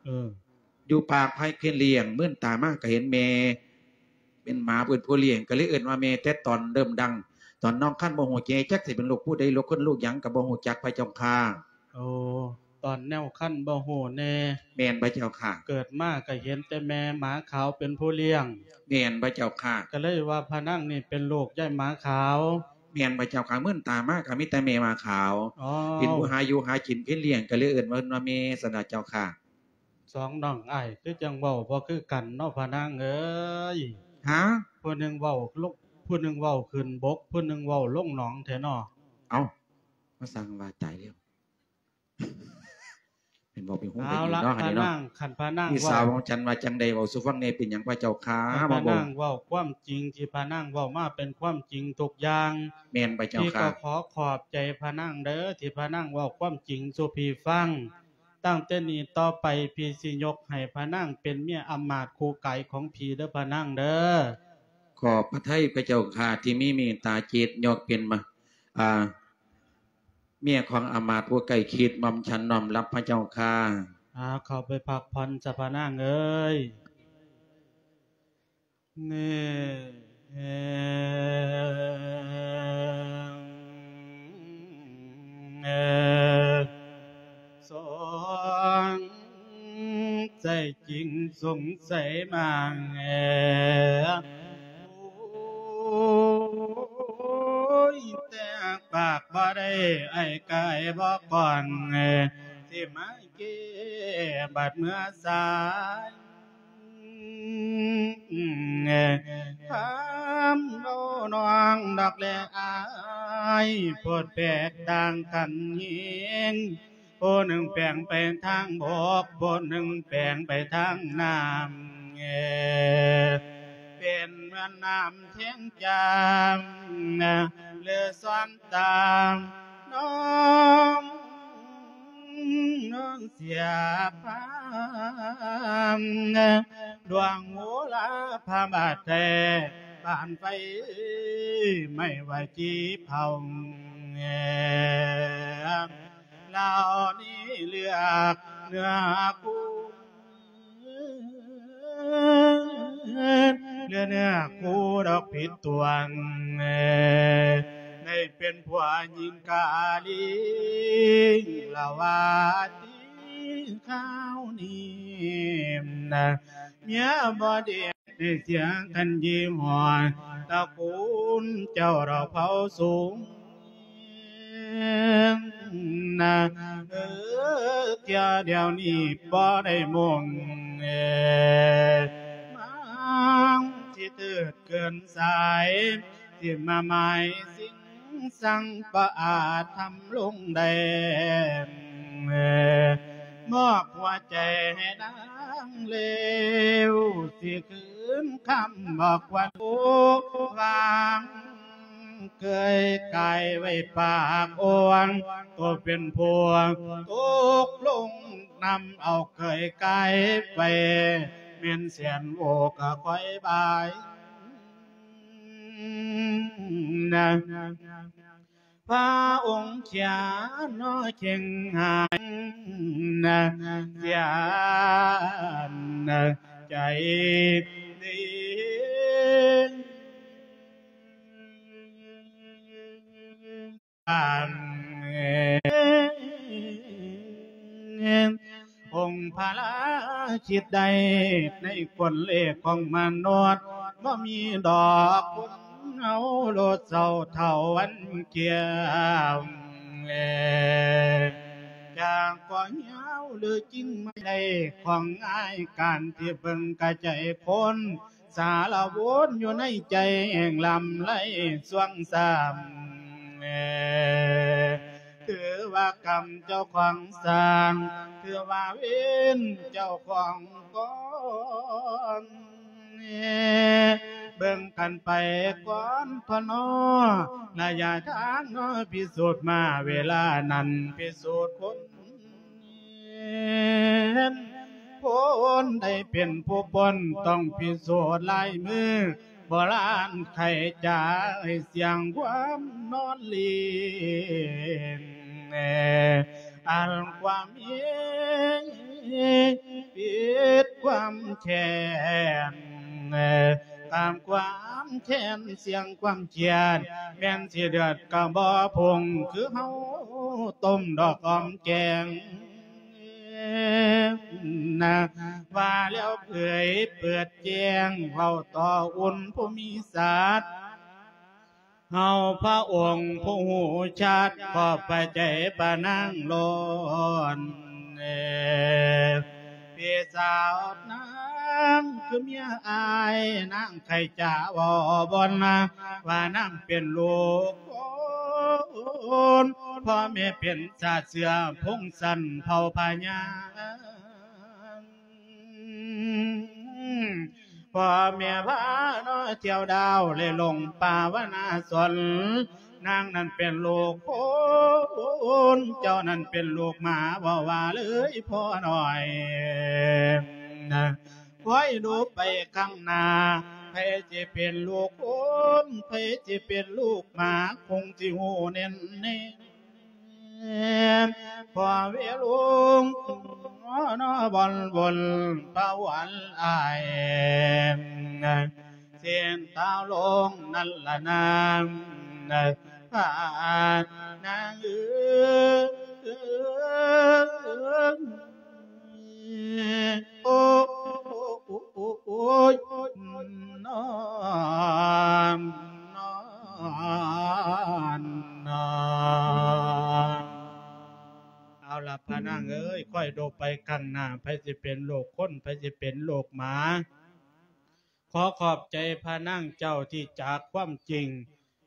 ເອີ ຢູ່ປາກໄພເຄນລ້ຽງ ມື່ນຕາມາກໍເຫັນແມ່ ເປັນໝາເປັນຜູ້ລ້ຽງ ກໍເລີຍເອີ້ນວ່າແມ່ ແຕ່ຕອນເລີ່ມດັງ ຕອນນ້ອງຄັນບໍ່ຮູ້ແຈ ຈັກຊິເປັນລູກຜູ້ໃດ ລູກຄົນລູກຫຍັງກໍບໍ່ຮູ້ຈັກ ພະເຈົ້າຂ້າ. ໂອ້ ຕອນແນວຄັນບໍ່ຮູ້ແດ່. ແມ່ນພະເຈົ້າຂ້າ. ເກີດມາກໍເຫັນແຕ່ແມ່ໝາຂາວເປັນຜູ້ລ້ຽງ. ແມ່ນພະເຈົ້າຂ້າ. ກໍເລີຍວ່າພະນາງນີ້ເປັນລູກຍາຍໝາຂາວ. ແມ່ນພະເຈົ້າຂ້າ. ມື່ນຕາມາກໍມີແຕ່ແມ່ໝາຂາວ ອໍ ເປັນຜູ້ຫາຢູ່ຫາກິນເປັນລ້ຽງ ກໍເລີຍເອີ້ນວ່າ ວ່າແມ່ຊັ້ນລະເຈົ້າຂ້າ. ສອງນ້ອງອ້າຍຄືຈັ່ງເວົ້າບໍ່ຄືກັນເນາະພະນາງເອີຍ. ຫາ? ຜູ້ໜຶ່ງເວົ້າລົງ ຜູ້ໜຶ່ງເວົ້າຂຶ້ນບົກ ຜູ້ໜຶ່ງເວົ້າລົງໜອງແທ້ເນາະ. ເອົ້າ ມາສ້າງວ່າຕາຍແລ້ວ. ເປັນເວົ້າເປັນຫູເປັນອີເນາະ ເອົາລະ ອັນນີ້ເນາະ ພະນາງ ຄັນພະນາງ ພີ່ສາວຂອງ ເວົ້າ ຂອງສັນວ່າຈັ່ງໃດ ເວົ້າສູ່ຟັງແດ່ ເປັນຫຍັງພະເຈົ້າຂ້າ ຄັນພະນາງເວົ້າຄວາມຈິງ ທີ່ພະນາງເວົ້າມາເປັນຄວາມຈິງທຸກຢ່າງ. ແມ່ນພະເຈົ້າຂ້າ. ພີ່ກໍຂໍຂອບໃຈພະນາງເດີ ທີ່ພະນາງເວົ້າຄວາມຈິງສູ່ພີ່ຟັງ. ຕັ້ງແຕ່ນີ້ຕໍ່ໄປ ພີ່ຊິຍົກໃຫ້ພະນາງເປັນເມຍອຳມາດຄູ່ກາຍຂອງພີ່ເດີພະນາງເດີ. ຂອບພະໄທພະເຈົ້າຂ້າ ທີ່ມີເມດຕາຈິດ ຍົກເປັນມາ ອ່າ ເມຍຂອງອຳມາດຜູ້ໃກ້ຊິດ ໝ່ອມສັນນ້ອມຮັບພະເຈົ້າຂ້າ. ອາ ເຂົ້າໄປພັກຜ່ອນຊະພະນາງເອີຍ. ເນ ສອງ ໃຈຈິງສົງໄສມາງ ໂອ້ຍ ແຕ່ປາກບໍ່ໄດ້ ອ້າຍກາຍບໍ່ກ່ອນ ຊິມາເກ ບັດເມື່ອສາຍ ຖາມເວົ້ານ້ອງດອກແລອ້າຍ ໂພດແປກຕ່າງກັນແຮງ ຜູ້ໜຶ່ງແປງໄປທາງບົກ ຜູ້ໜຶ່ງແປງໄປທາງນ້ຳ ເປັນເໝືອນນ້ຳແທງຈາມ ຫຼືສອນຕາມ ນ້ອງເສຍພາມ ດວງໂຫລາພະບາດແທ້ ບານໄຟໄມ້ໄຫວ້ຈີເຜົາ ລາວນີ້ເລືອກເນື້ອຄູ່ ເຫຼືອເນື້ອຄູ່ດອກຜິດຕົວງ ໄດ້ເປັນຜົວຍິງກາລີ ລະວ່າຕິຄາວນີ້ ເມຍບໍ່ດີ ໄດ້ເສຍກັນຍີ່ຫໍ້ ຕະກູນເຈົ້າດອກເຜົ່າສູງ ນະ ເອີ ເທື່ອດຽວນີ້ບໍ່ໄດ້ມຸ່ງ ເອີ ມັນຊິເຕີດເກີນສາຍ ຊິມາໝາຍສິ່ງ ສັງປະອາດທຳລົງໄດ້ ມອບຫົວໃຈໃຫ້ນາງເລວ ຊິຄືນຄຳບອກຄວັນໂອ ວາງເກີຍກາຍໄວ້ປາກໂອງ ໂຕເປັນຜູ້ຕົກລົງນຳເອົາເກີຍກາຍໄປ ແມ່ນແສນໂອກະຄອຍບາຍ ນະ ພະອົງເຂຍນອເຄັ່ງຫາຍນະ ເສຍນະໃຈດີ. ນ ອົງພະລາຄິດໄດ້ໃນຄົນເລກຂອງມະນຸດ ບໍ່ມີດອກຄົນເຮົາໂລດເສົ້າເທົ່າວັນກ່ຽວ ຈາກກໍຍາວຫຼືກິ່ງໄມ້ໄດ້ຂອງອ້າຍ ການທີ່ເບິ່ງກະໃຈຄົນ ສາລະວົນຢູ່ໃນໃຈແຫ່ງລຳໄລຊ່ວງຊ້ຳ ຖືວ່າກຳເຈົ້າຂອງສ້າງ ຖືວ່າເວນເຈົ້າຂອງກອນ ເບິ່ງກັນໄປກ່ອນເທາະນໍ ລະຍະທາງນໍພິສູດມາ ເວລານັ້ນພິສູດຄົນ ຄົນໃດເປັນຜູ້ປົນ ຕ້ອງພິສູດລາຍມື ໂບລານໄຂຈາ ໃຫ້ສຽງຄວາມນອນລີນ ອັນຄວາມມີ ປິດຄວາມແຄ້ນ ຕາມຄວາມແຄ້ນ ສຽງຄວາມຄຽດ ແມ່ນຊິເດືອດກະບໍ່ພຸ່ງ ຄືເຮົາຕົ້ມດອກອອມແກງ ນະ ວ່າແລ້ວເຜີຍເປີດແຈ້ງ ເວົ້າຕໍ່ອຸ່ນຜູ້ມີສັດ ເຮົາພະອົງຜູ້ຮູ້ຊັດ ຂອບພະໃຈພະນາງລ້ນ ພີ່ສາວນາງຄືເມຍອ້າຍ ນາງໄຄຈະເວົ້າບ່ອນນາ ວ່ານາງເປັນລູກຄົນ ພໍ່ແມ່ເປັນຊາດເຊື້ອພົງຊັ້ນເຜົ່າພະຍາ ພໍ່ແມ່ພາເນາະທ່ຽວດາວ ແລະ ລົງປ່າວະນາສົນ ນາງນັ້ນເປັນລູກຄົນ ເຈົ້ານັ້ນເປັນລູກໝາ ເວົ້າວ່າເລີຍພໍ່ນ້ອຍນະ ຄອຍດູໄປຂ້າງໜ້າ ໃຜຊິເປັນລູກຄົນ ໃຜຊິເປັນລູກໝາ ຄົງຊິຮູ້ແນ່ນແນ່ ພໍ່ເວລຸງ ນອນອນ ບອນບົນປະວັນອາຍ ເສັ້ນທາງລົງນັ້ນລະນາ ພານາງເອີຍ ໂອ້ ໂອ້ຍ ນອນ ນອນ ນອນ ເອົາລະ ພະນາງເອີຍ ຂ້ອຍດູໄປຂ້າງໜ້າ ໃຜຊິເປັນລູກຄົນ ໃຜຊິເປັນລູກໝາ ຂໍຂອບໃຈພະນາງເຈົ້າທີ່ຈາກຄວາມຈິງ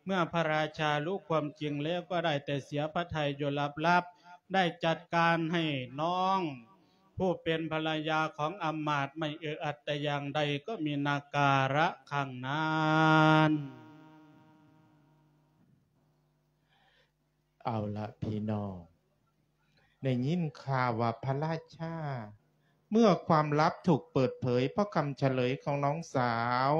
ເມື່ອພະລາຊາຮູ້ຄວາມຈິງແລ້ວ ກໍໄດ້ແຕ່ເສຍພະໄທຢູ່ຫຼັບໆ ໄດ້ຈັດການໃຫ້ນ້ອງ ຜູ້ເປັນພະລະຍາຂອງອຳມາດ ໄມ່ເອື້ອອັດແຕ່ຢ່າງໃດ ກໍມີນາກາລະຄັ້ງນັ້ນ. ເອົາລະພີ່ນ້ອງ ໄດ້ຍິນຂ່າວວ່າພະລາຊາ ເມື່ອຄວາມລັບຖືກເປີດເຜີຍ ເພາະຄຳສະເຫຼີຍຂອງນ້ອງສາວ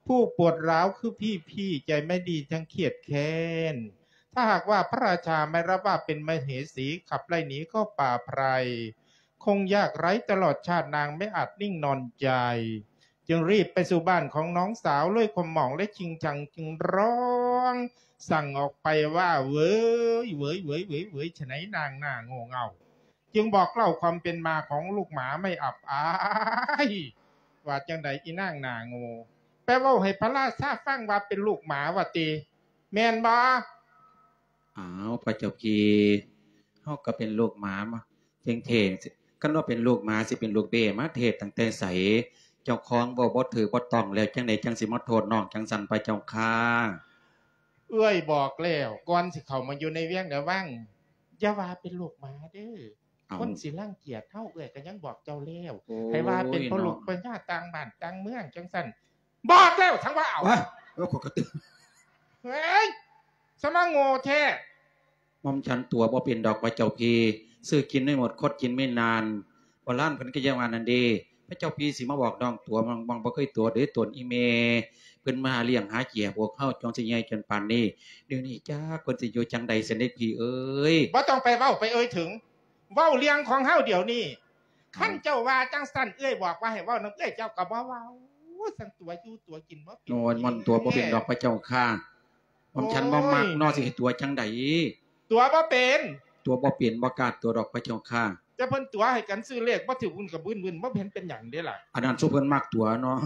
ຜູ້ປວດຮ້າວຄືພີ່ໆ ໃຈໄມ່ດີທັງຄຽດແຄ້ນ ຖ້າຫາກວ່າພະລາຊາໄມ່ລະວ່າເປັນມະເຫສີ ຂັບໄລ່ໜີເຂົ້າປ່າໄພ ຄົງຍາກໄຮ້ຕະຫຼອດຊາດ ນາງໄມ່ອາດນິ່ງນອນໃຈ ຈຶ່ງຣີບໄປສູ່ບ້ານຂອງນ້ອງສາວ ດ້ວຍຄວາມໝອງ ແລະ ຈິງຈັງ ຈຶ່ງຮ້ອງສັ່ງອອກໄປວ່າ ເຫວີຍ ເຫວີຍ ເຫວີຍ ເຫວີຍ ເຫວີຍ ຊະໄນນາງໜ້າໂງ່ເຫງົາ ຈຶ່ງບອກເລົ່າຄວາມເປັນມາຂອງລູກໝາໄມ່ອັບອາຍ ວ່າຈັ່ງໃດອີນາງໜ້າໂງ່ ໄປເວົ້າໃຫ້ພະລາຊາຟັງວ່າເປັນລູກໝາວ່າຕິ ແມ່ນບໍ່? ອ້າວ ພະເຈົ້າພີ່ ເຮົາກໍເປັນລູກໝາມາ ເພງເທ ຄັນວ່າເປັນລູກໝາ ຊິເປັນລູກເບ້ມາເທດຕັ້ງແຕ່ໃສ? ເຈົ້າຂອງເວົ້າບໍ່ຖືກບໍ່ຕ້ອງແລ້ວ ຈັ່ງໃດຈັ່ງຊິມາໂທດນ້ອງຈັ່ງຊັ້ນ ພະເຈົ້າຂ້າ? ເອື້ອຍບອກແລ້ວ ກ່ອນຊິເຂົ້າມາຢູ່ໃນວຽງໃນວັງ ຢ່າວ່າເປັນລູກໝາເດີ້ ເອົ້າ ຄົນຊິລັງກຽດເຮົາ ເອື້ອຍກໍຍັງບອກເຈົ້າແລ້ວ ໂອ້ຍ ໃຫ້ວ່າເປັນພໍ່ລູກ ເນາະ ພະຍາຕ່າງບ້ານຕ່າງເມືອງຈັ່ງຊັ້ນ ບອກແລ້ວ ທັງວ່າເອົາ ວະ ເອີ ຂ້ອຍກໍຕື່ນ ເຮີ້ຍ ສະມາໂງ່ແທ້ ໝ່ອມສັນຕົວະບໍ່ເປັນດອກ ພະເຈົ້າພີ່ ຊື່ກິນໄມ່ໝົດ ຄົດກິນໄມ່ນານ ໂບລານເພິ່ນກໍຍັງວ່ານັ້ນເດ ພະເຈົ້າພີ່ຊິມາບອກນ້ອງຕົວະ ມັນ ມັນບໍ່ເຄີຍຕົວະເດ້ ຕົວະອີແມ່ ເພິ່ນມາລ້ຽງຫາເຈ້ຍພວກເຮົາ ຈົນຊິໃຫຍ່ຈົນປານນີ້ ດຽວນີ້ຈັກເພິ່ນຊິຢູ່ຈັ່ງໃດຊັ້ນເດ ພີ່ເອີຍ ບໍ່ຕ້ອງໄປເວົ້າໄປເອີ່ຍເຖິງ ເວົ້າເລື່ອງຂອງເຮົາດຽວນີ້ ເອົ້າ ຄັນເຈົ້າວ່າຈັ່ງຊັ້ນ ເອື້ອຍບອກວ່າໃຫ້ເວົ້ານຳເອື້ອຍ ເຈົ້າກໍບໍ່ເວົ້າ ຊັ້ນຕົວະຢູ່ຕົວະກິນບໍ່ເປັນ ໂອ້ຍ ມັນຕົວະບໍ່ເປັນດອກ ພະເຈົ້າຂ້າ ໝ່ອມฉันบ่มักเนาะ โอ้ย สิให้ตั๋วจั่งใด ตั๋วบ่เป็น ตั๋วบ่เป็น บ่กล้าตั๋วดอกพระเจ้าข้า แต่เพิ่นตั๋วให้กันซื้อเลขบ่ถืก วุ่นกะบึ้นๆ บ่เห็นเป็นหยังเด้ล่ะ อันนั้นซุเพิ่นมักตั๋วเนาะ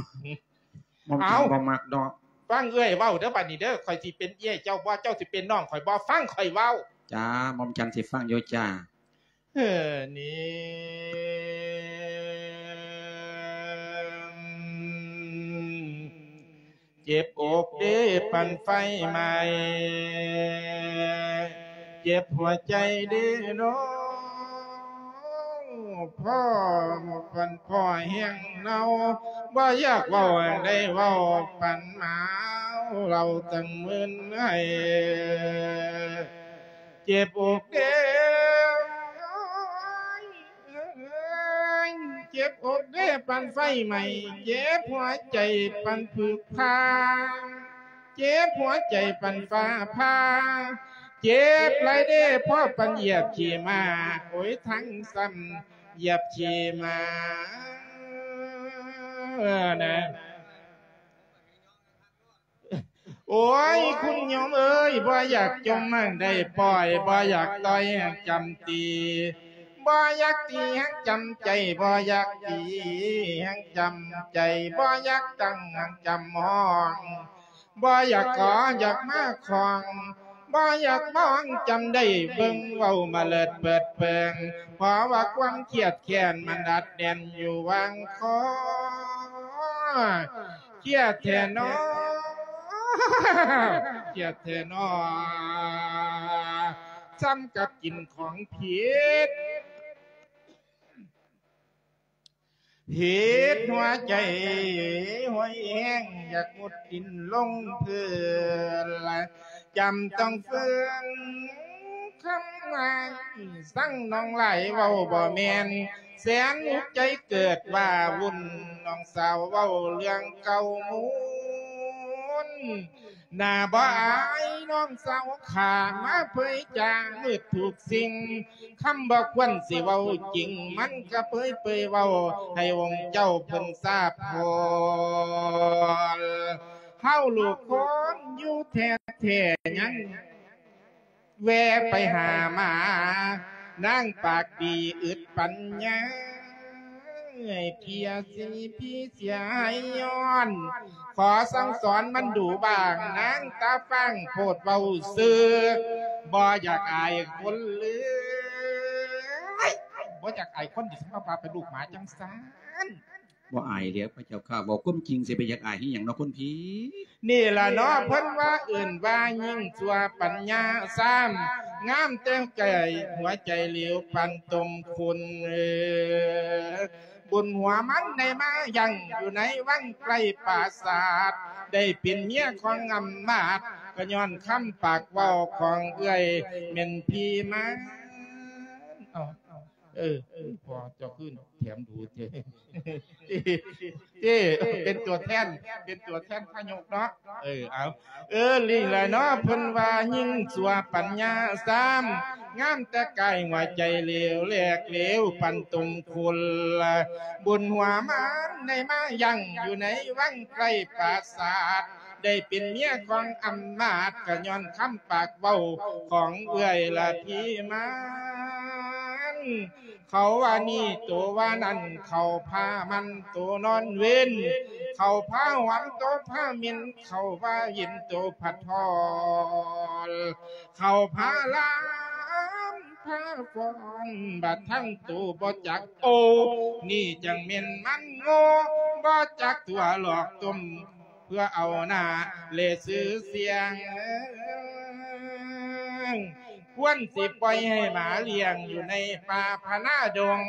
หม่อมฉัน เอ้า บ่มักเนาะ ฟังเอื้อยเว้าเด้อบัดนี้เด้อ ข้อยสิเป็นเอื้อยเจ้าบ่ เจ้าสิเป็นน้องข้อยบ่ ฟังข้อยเว้า จ้า หม่อมฉันสิฟังอยู่จ้า เออ นี่ เจ็บอกเด้ปันไฟไหม้ เจ็บหัวใจเด้น้อง พ่อปันพ่อแห้งเนา บ่อยากเว้าได้เว้าปันหนาว เราตั้งมื้นให้ เจ็บอกเด้ เจ็บอกเด้ปันไฟไหม้ เจ็บหัวใจปันผึกพา เจ็บหัวใจปันฟ้าผ่า เจ็บหลายเด้พอปันเหยียบขี้หมา โอ้ย ทั้งซ้ำเหยียบขี้หมา เออ นะ โอ้ย คุณโยมเอ้ย บ่อยากจมหั้งได้ปล่อย บ่อยากต่อยหั้งจำตี บ่อยากตีหั้งจำใจ บ่อยากตีหั้งจำใจ บ่อยากตั้งหั้งจำห้อง บ่อยากขออยากมาของ บ่อยากมองจำได้เบิ่งเว้ามาเลิศเปิดเปิง เพราะว่าความเครียดแค้นมันอัดแน่นอยู่หว่างคอ เครียดแท้น้อ เครียดแท้น้อ ซ้ำกับกินของผิด ผิดหัวใจห้อยแฮง อยากมุดดินลงพื้น จำต้องฟื้น คำว่าสั่งน้องหลายเว้าบ่แม่น แสนอุกใจเกิดว่าวุ่น น้องสาวเว้าเรื่องเก่ามูน หน้าบ่อายน้องสาวข้ามาเผยจามืดทุกสิ่ง คำบ่ควรสิเว้าจริง มันก็เผยเปยเว้าให้องค์เจ้าเพิ่นทราบพอ เฮาลูกคนอยู่แท้ๆ ยัง แวะไปหามา นางปากดีอึดปัญญา ให้เพียสิพีเสียหายย้อน ขอสั่งสอนมันดูบ้าง นางตาฟางโพดเว้าซื่อ บ่อยากอายคนเลย บ่อยากอายคน สิมาว่าเป็นลูกหมาจังซั้น บ่อายแล้วพระเจ้าข้า เว้าความจริงสิไปอยากอายอีหยังเนาะคนพี่ นี่ล่ะเนาะ เพิ่นว่าเอิ้นว่ายิ่งชั่วปัญญาซ้ำ งามแต่งใจหัวใจเหลวปานต้มข้น เออ บุญหัวมันได้มายังอยู่ในวังใกล้ปราสาท ได้เป็นเมียของอำมาตย์ ก็ย้อนคำปากเว้าของเอื้อยแม่นพี่มา เอ้า เออ เออ พอเจ้าขึ้นแถมดูเจ้ เจ้ เป็นตัวแทน เป็นตัวแทนพระยกเนาะ เออ เอา เออ ลีแหละเนาะ เพิ่นว่ายิ่งชั่วปัญญาซ้ำ งามแต่กายหัวใจเหลวแหลกเหลวปันตุงคุล บุญหัวมันได้มายังอยู่ในวังใกล้ปราสาท ได้เป็นเมียของอำมาตย์ ก็ย้อนคำปากเว้าของเอื้อยละพี่มัน เขาว่านี่โตว่านั่น เขาพามันโตนอนเวน เขาพาหอมโตพาเหม็น เขาว่าเย็นโตผัดทอน เขาพาลามพาฟ้อน บัดทั้งโตบ่จักโอ นี่จังแม่นมันโง่ บ่จักตัวหลอกต้ม เพื่อเอาหน้าและชื่อเสียง ควรสิปล่อยให้หมาเลี้ยงอยู่ในป่าพะนาดง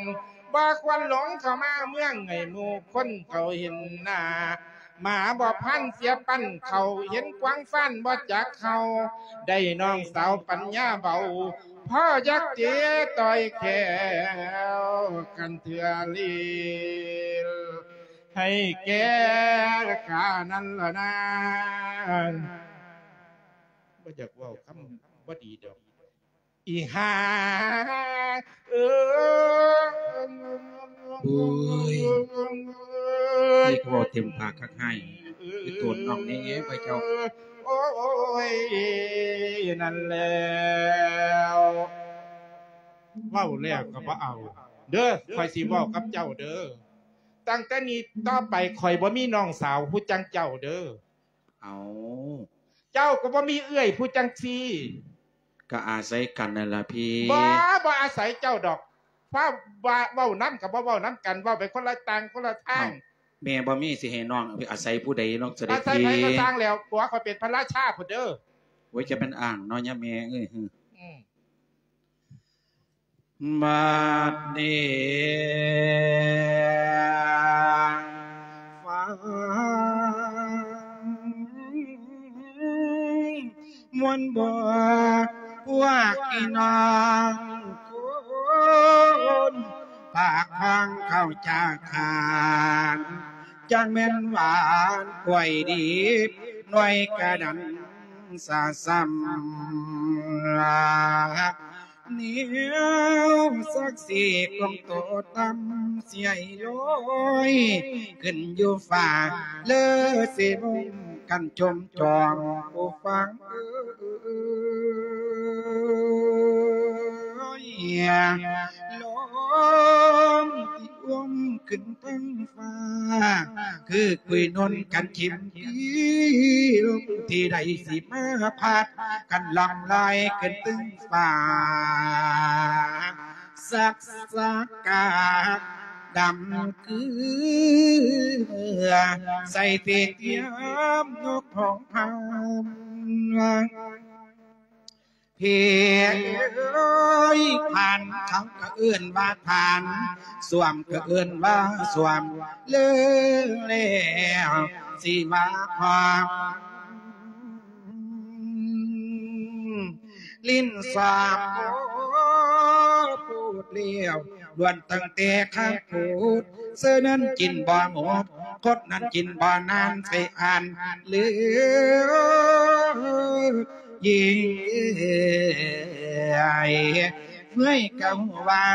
บ่ควรหลงเข้ามาเมืองให้หมู่คนเขาเห็นหน้า หมาบ่พันเสียปั้นเขา เห็นกวางฟ้านบ่จักเขา ได้น้องสาวปัญญาเบา พ่อยักษ์เจต่อยแขวกันเทื่อลีล ให้แก่ข้านั้นละนาง บ่อยากเว้าคำบ่ดีดอก อีห่า เอ้ย โอ้ย นี่ก็เว้าเต็มปากคักให้ ไปโตนน้องแหน่ ไปเจ้า โอ้ ໂອ້ຍ ນັ້ນແລ້ວ ເວົ້າແລ້ວກໍບໍ່ເອົາເດີ້ ຂ້ອຍຊິເວົ້າກັບເຈົ້າເດີ້. ຕັ້ງແຕ່ນີ້ຕໍ່ໄປ ຂ້ອຍບໍ່ມີນ້ອງສາວຜູ້ຈັ່ງເຈົ້າເດີ້. ເອົ້າ ເຈົ້າກໍບໍ່ມີເອື້ອຍຜູ້ຈັ່ງຊີ້. ກໍອາໄສກັນນັ້ນລະພີ່. ບໍ່ ບໍ່ອາໄສເຈົ້າດອກ. ຟ້າວວ່າເວົ້ານຳກໍບໍ່ເວົ້ານຳກັນ, ເວົ້າໄປຄົນລະຕ່າງຄົນລະທາງ. ເອົ້າ ແມ່ບໍ່ມີ ຊິໃຫ້ນ້ອງອາໄສຜູ້ໃດເນາະ ສະເດັດພີ່? ອາໄສໃຜກໍຊ່າງແລ້ວ, ຜົວຂ້ອຍເປັນພະລາຊາພຸ້ນເດີ້. ໂອ້ຍ ຈະແມ່ນອ້າງເນາະ ຍາແມ່ເອີຍ. ອືມ ບັດນີ້ຟັງ ມ່ວນບໍ່ ພວກພີ່ນ້ອງຄົນ ປາກຂອງເຂົາຈາກທານ ຈັ່ງແມ່ນຫວານກ້ວຍດີບ ໜ່ວຍກະດັນສາສ່ຳ ແນວສັກສີຂອງໂຕຕ່ຳ ຊິໃຫ້ລອຍຂຶ້ນຢູ່ຟ້າ ເລີຊິມຸງກັນຊົມຈອງ ຜູ້ຟັງເອີຍ ລົມທີ່ອວມຂຶ້ນເທິງຟ້າ ຄືຄຸຍນົນກັນເຂັມປີ ລົມທີ່ໃດຊິມາພັດ ກັນລ່ອງລອຍຂຶ້ນເທິງຟ້າ ສັກສະກາດຳຄືໃສ່ເສດຢາມນົກຮ້ອງພານ. ເພເອີຍ ພານ ເຂົາກໍເອີ້ນວ່າພານ, ສວມກໍເອີ້ນວ່າສວມ ເລີແລ້ວຊິວ່າຄວາມ ຫຼິ້ນສາມໂພດແລ້ວ ລ້ວນຕັ້ງແຕ່ຄາງໂພດ ເສື້ອນັ້ນກິນບໍ່ໝົດ ຄົດນັ້ນກິນບໍ່ນານ ໃສ່ອ່ານເຫຼືອຍິງ ເມື່ອຍກໍຮູ້ວ່າ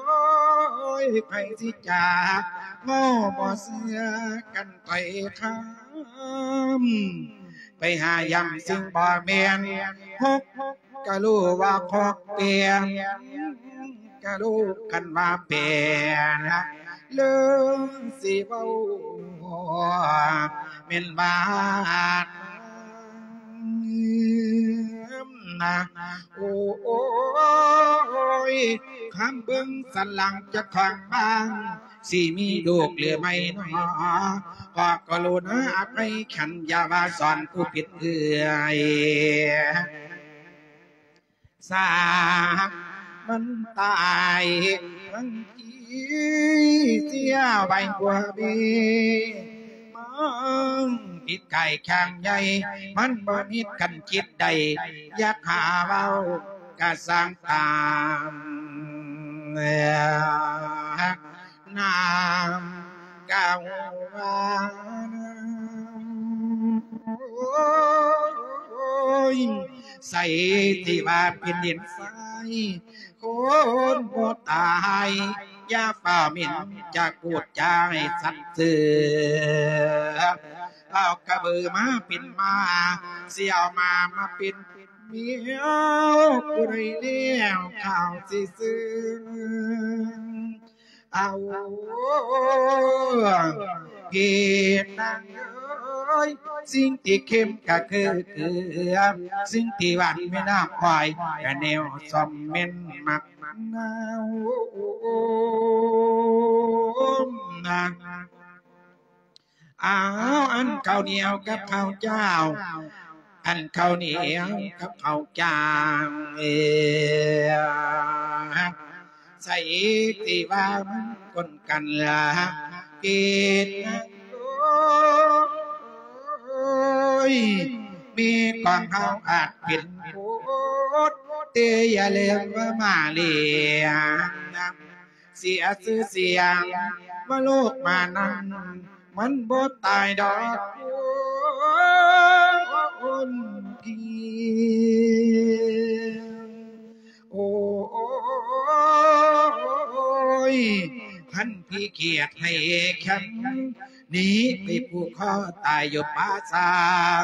ໂອ້ຍ ໃຜຊິຈາ ເວົ້າບໍ່ເຊື່ອກັນ ໄປຄຳ ໄປຫາຢ່ຳສິ່ງບໍ່ແມ່ນ ຫົກກະຮູ້ວ່າຄອກແປນ ກະຮູ້ຄັນວ່າແປນ ເລີຊິເວົ້າແມ່ນວ່ານະ ໂອ້ຍ ຄຳເບິ່ງສັນຫຼັງຈາກຂ້າງບ້ານ ຊິມີລູກຫຼືໄມ່ນໍ ຂໍກະລຸນາອະໄພຄັນ ຢ່າວ່າສອນຜູ້ຜິດເອື້ອຍ ສາກມັນຕາຍທັງທີ່ ເສຍໄວ້ບໍ່ມີ ມັນຜິດກາຍຂ້າງໃຫຍ່ ມັນບໍ່ມີກັນຈິດໃດ ຢາກຫາເວົ້າກະສ້າງຕາມ ນາງກໍວ່າ ໂອ້ຍ ໃສທີ່ວ່າເປັນດິນຊາຍ ຄົນບໍ່ຕາຍ ຢ່າຟ້າວໝິ່ນ ຈະກູດຈາໃຫ້ສັດເສືອ ເອົາກະເບີມາເປັນມ້າ ຊິເອົາມ້າມາເປັນ ແມວຜູ້ໃດແລ້ວ ຂ້າວຊິຊື້ ເອົາ ເພນາງເອີຍ ສິ່ງທີ່ເຄັມກະຄືເກືອ ສິ່ງທີ່ຫວານແມ່ນນ້ຳອ້ອຍ ກະແນວສ້ອມແມ່ນໝາກນາວນາ ອ້າວ ອັນເຂົ້າໜຽວກັບເຂົ້າຈ້າວ ອັນເຂົ້າໜຽວກັບເຂົ້າຈ້າວ ເອີ ໃສທີ່ວ່າມັນກົນກັນລະ ເກດ ໂອ້ຍ ມີຂອງເຮົາອາດເປັນໂພດ ແຕ່ຢ່າລືມວ່າມາເລຍ ເສຍຊື່ສຽງ ມາໂລກມານັ້ນ ມັນບໍ່ຕາຍດອກຄົນພີ່ ໂອ້ຍ ຄັນພີ່ກຽດໃຫ້ແຄມ ໜີໄປຜູກຄໍຕາຍຢູ່ປ່າຊ້າງ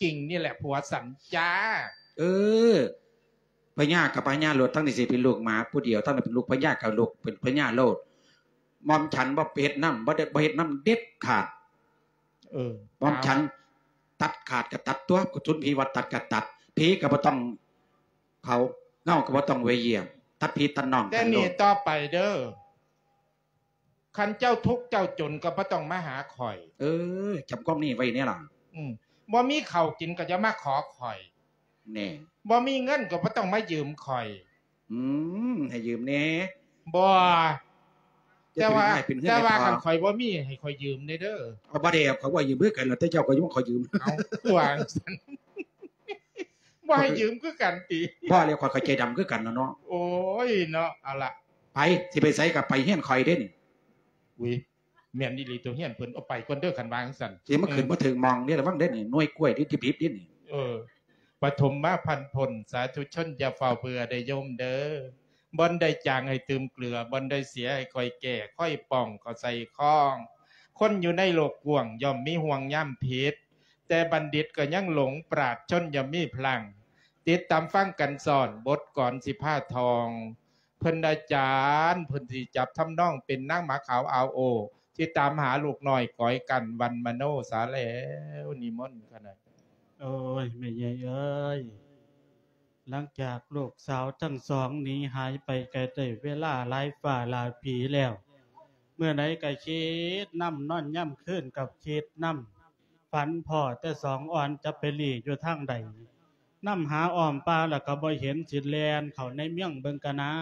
ກິ່ງນີ້ແຫຼະຜົວສັນຈ້າ. ເອີ ພະຍາກໍພະຍາໂລດ, ທັງນີ້ຊິເປັນລູກໝາຜູ້ດຽວ, ທັງນັ້ນເປັນລູກພະຍາກໍລູກເປັນພະຍາໂລດ. ໝ່ອມສັນບໍ່ເຮັດນຳ, ບໍ່ໄດ້ ບໍ່ເຮັດນຳເດັດຂາດ. ເອີ ໝ່ອມສັນຕັດຂາດກໍຕັດຕົວະ, ກຸສົນຜີວ່າຕັດກໍຕັດ, ຜີກໍບໍ່ຕ້ອງເຂົ້າ, ເງົາກໍບໍ່ຕ້ອງໄປຢ້ຽມ, ຕັດພີ່ຕັດນ້ອງ. ແຕ່ນີ້ຕໍ່ໄປເດີ ຄັນເຈົ້າທຸກເຈົ້າຈົນກໍບໍ່ຕ້ອງມາຫາຂ້ອຍ. ເອີ ຈຳຄວາມນີ້ໄວ້ແດ່ລະ. ອືມ ບໍ່ມີເຂົ້າກິນກໍຢ່າມາຂໍຂ້ອຍ. ແນ່ ບໍ່ມີເງິນກໍບໍ່ຕ້ອງມາຢືມຂ້ອຍ. ອືມ ໃຫ້ຢືມແດ່. ບໍ່ ແຕ່ວ່າ ແຕ່ວ່າຄັນຂ້ອຍບໍ່ມີ ໃຫ້ຂ້ອຍຢືມແດ່ເດີ. ເອົາ ບໍ່ໄດ້ ຂ້ອຍບໍ່ຢືມຄືກັນ, ແລ້ວແຕ່ເຈົ້າ ຂ້ອຍບໍ່ຂໍຢືມ. ເອົາ ຄືວ່າຈັ່ງຊັ້ນ ບໍ່ໃຫ້ຢືມຄືກັນຕິ? ບໍ່ແລ້ວ ຂ້ອຍກໍໃຈດຳຄືກັນລະເນາະ. ໂອ້ຍເນາະ. ເອົາລະ ໄປ ຊິໄປໃສກໍໄປເຮືອນຂ້ອຍເດ້ນີ້. ອຸ້ຍ ແມ່ນອີ່ຫຼີຕົວະ ເຮືອນເພິ່ນ. ເອົາ ໄປກ່ອນເດີ ຄັນວ່າຈັ່ງຊັ້ນ. ຊິມາຂຶ້ນ ເອີ ບໍ່ເຖິງໝ່ອງເດ້ ລະວັງເດີນີ້ ໜ່ວຍກ້ວຍທີ່ດິບໆເດ້ນີ້. ເອີ ປະຖົມມະພັນພົນ ສາທຸຊົນຢ່າຟ້າວເບື່ອເດີໂຍມເດີ. ບ່ອນໃດຈາງໃຫ້ຕື່ມເກືອ, ບ່ອນໃດເສຍໃຫ້ຄ່ອຍແກ້, ຄ່ອຍປ່ອງເຂົ້າໃສ່ຂ້ອງ. ຄົນຢູ່ໃນໂລກກວ້າງ ຍ່ອມມີຫ່ວງຍາມຜິດ, ແຕ່ບັນດິດກໍຍັງຫຼົງ, ປາດຊົນຍ່ອມມີພລັງ. ຕິດຕາມຟັງກັນສອນ, ບົດກອນສິພາທ່ອງ. ເພິ່ນອາຈານ ເພິ່ນຊິຈັບທຳນອງເປັນນາງໝາຂາວອາວໂອ ທີ່ຕາມຫາລູກນ້ອຍກອຍກັນວັນມະໂນສາແລ້ວ. ນິມົນຄະນະ. ໂອ້ຍ ແມ່ໃຫຍ່ເອີຍ, ຫຼັງຈາກລູກສາວທັງສອງໜີຫາຍໄປໄກໄດ້ເວລາຫຼາຍຟ້າຫຼາຍປີແລ້ວ, ມື້ໃດກໍຄິດນຳ, ນອນຍາມຄືນກໍຄິດນຳ, ຝັນພໍ້ແຕ່ສອງອ່ອນຈະໄປລີ້ຢູ່ທາງໃດ. ນຳຫາອ້ອມປ່າແລ້ວກໍບໍ່ເຫັນ, ຊິແລ່ນເຂົ້າໃນເມືອງເບິ່ງກະນາ.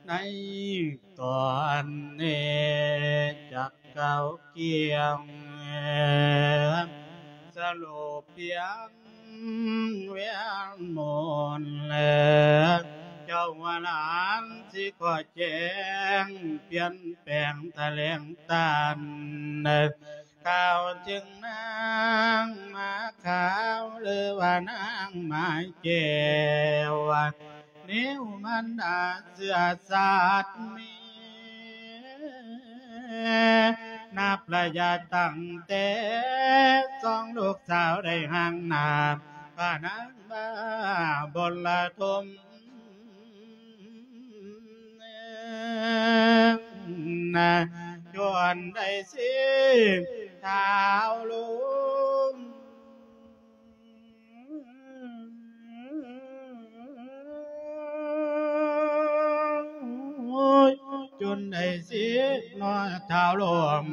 ໃນຕອນນີ້ຈັກກ່າວກ່ຽງ ສະຫຼຸບພຽງ ວຽນໝູນແລ ເຈົ້າວ່າຫຼານຊິຂໍແຈ້ງ ປ່ຽນແປງຖະແຫຼງຕານ ກ່າວເຖິງນາງໝາຂາວ ຫຼືວ່ານາງໝາແກ້ວ ແນວມັນດາເຊື້ອຊາດແມ່ ນັບໄລຍະຕັ້ງແຕ່ສອງລູກສາວໄດ້ຮ່າງໜ້າ ພະນາງມາບົນລະທົມ ຈົນໄດ້ສິບທ້າວລົງ ຈົນໄດ້ສິບເນາະທ້າວລົງ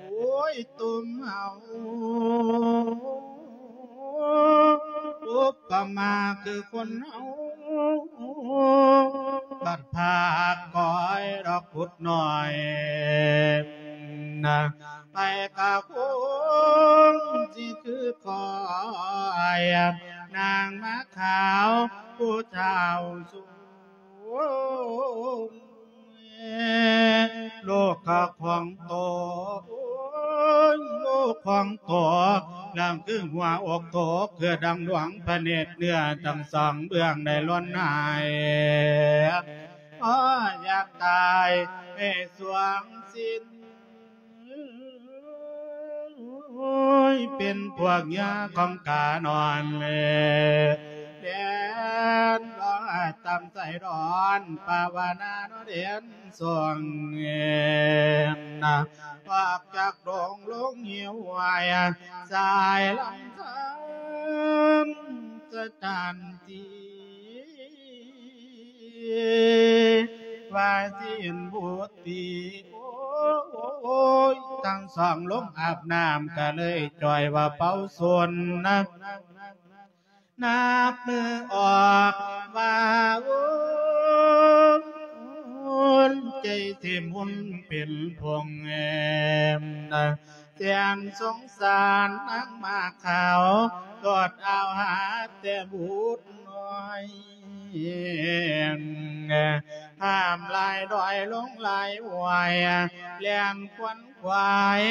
ໂອ້ຍ ຕຸມເຮົາ ອຸປະມາຄືຄົນເຮົາ ບັດພາກກ້ອຍດອກພຸດນ້ອຍນະ ໃຜກະຄົງຊິຄືຂ້ອຍ ນາງໝາກຂາວຜູ້ເຖົ້າສູງ ລູກຂະຂອງໂຕ ໂອ້ຍ ລູກຂອງໂຕ ດັ່ງຄືຫົວອົກໂຕ ຄືດັ່ງດວງພະເນດ ເນື້ອທັງສອງເບື້ອງໄດ້ຫຼົ່ນຫາຍ ໂອ້ຍ ຢາກຕາຍໃນຊ່ວງສິ້ນ ໂອ້ຍ ເປັນພວກເຫຍື່ອຂອງການອນເລ ແດນລອຍຕຳໃສ່ດອນ ປາວະນານອນເດນ ຊ່ວງເອນນະ ອອກຈາກດົງລົງຫ້ວຍ ສາຍລຳທານສະຖານທີ່ ວ່າຊິເຫັນບຸດຕີ ໂອ້ຍ ທັງສອງລົງອາບນ້ຳ ກະເລີຍຈ່ອຍວ່າເປົ່າຊົນນະ ນັບມືອອກວ່າໂອນ ໃຈເຕັມອຸ່ນເປັນພົງແອມ ແສນສົງສານນາງໝາກຂາວ ໂດດເອົາຫາແຕ່ບຸດນ້ອຍ ຂ້າມຫຼາຍດອຍລົງຫຼາຍຫ້ວຍ ແລ່ນຂວນຂວາຍ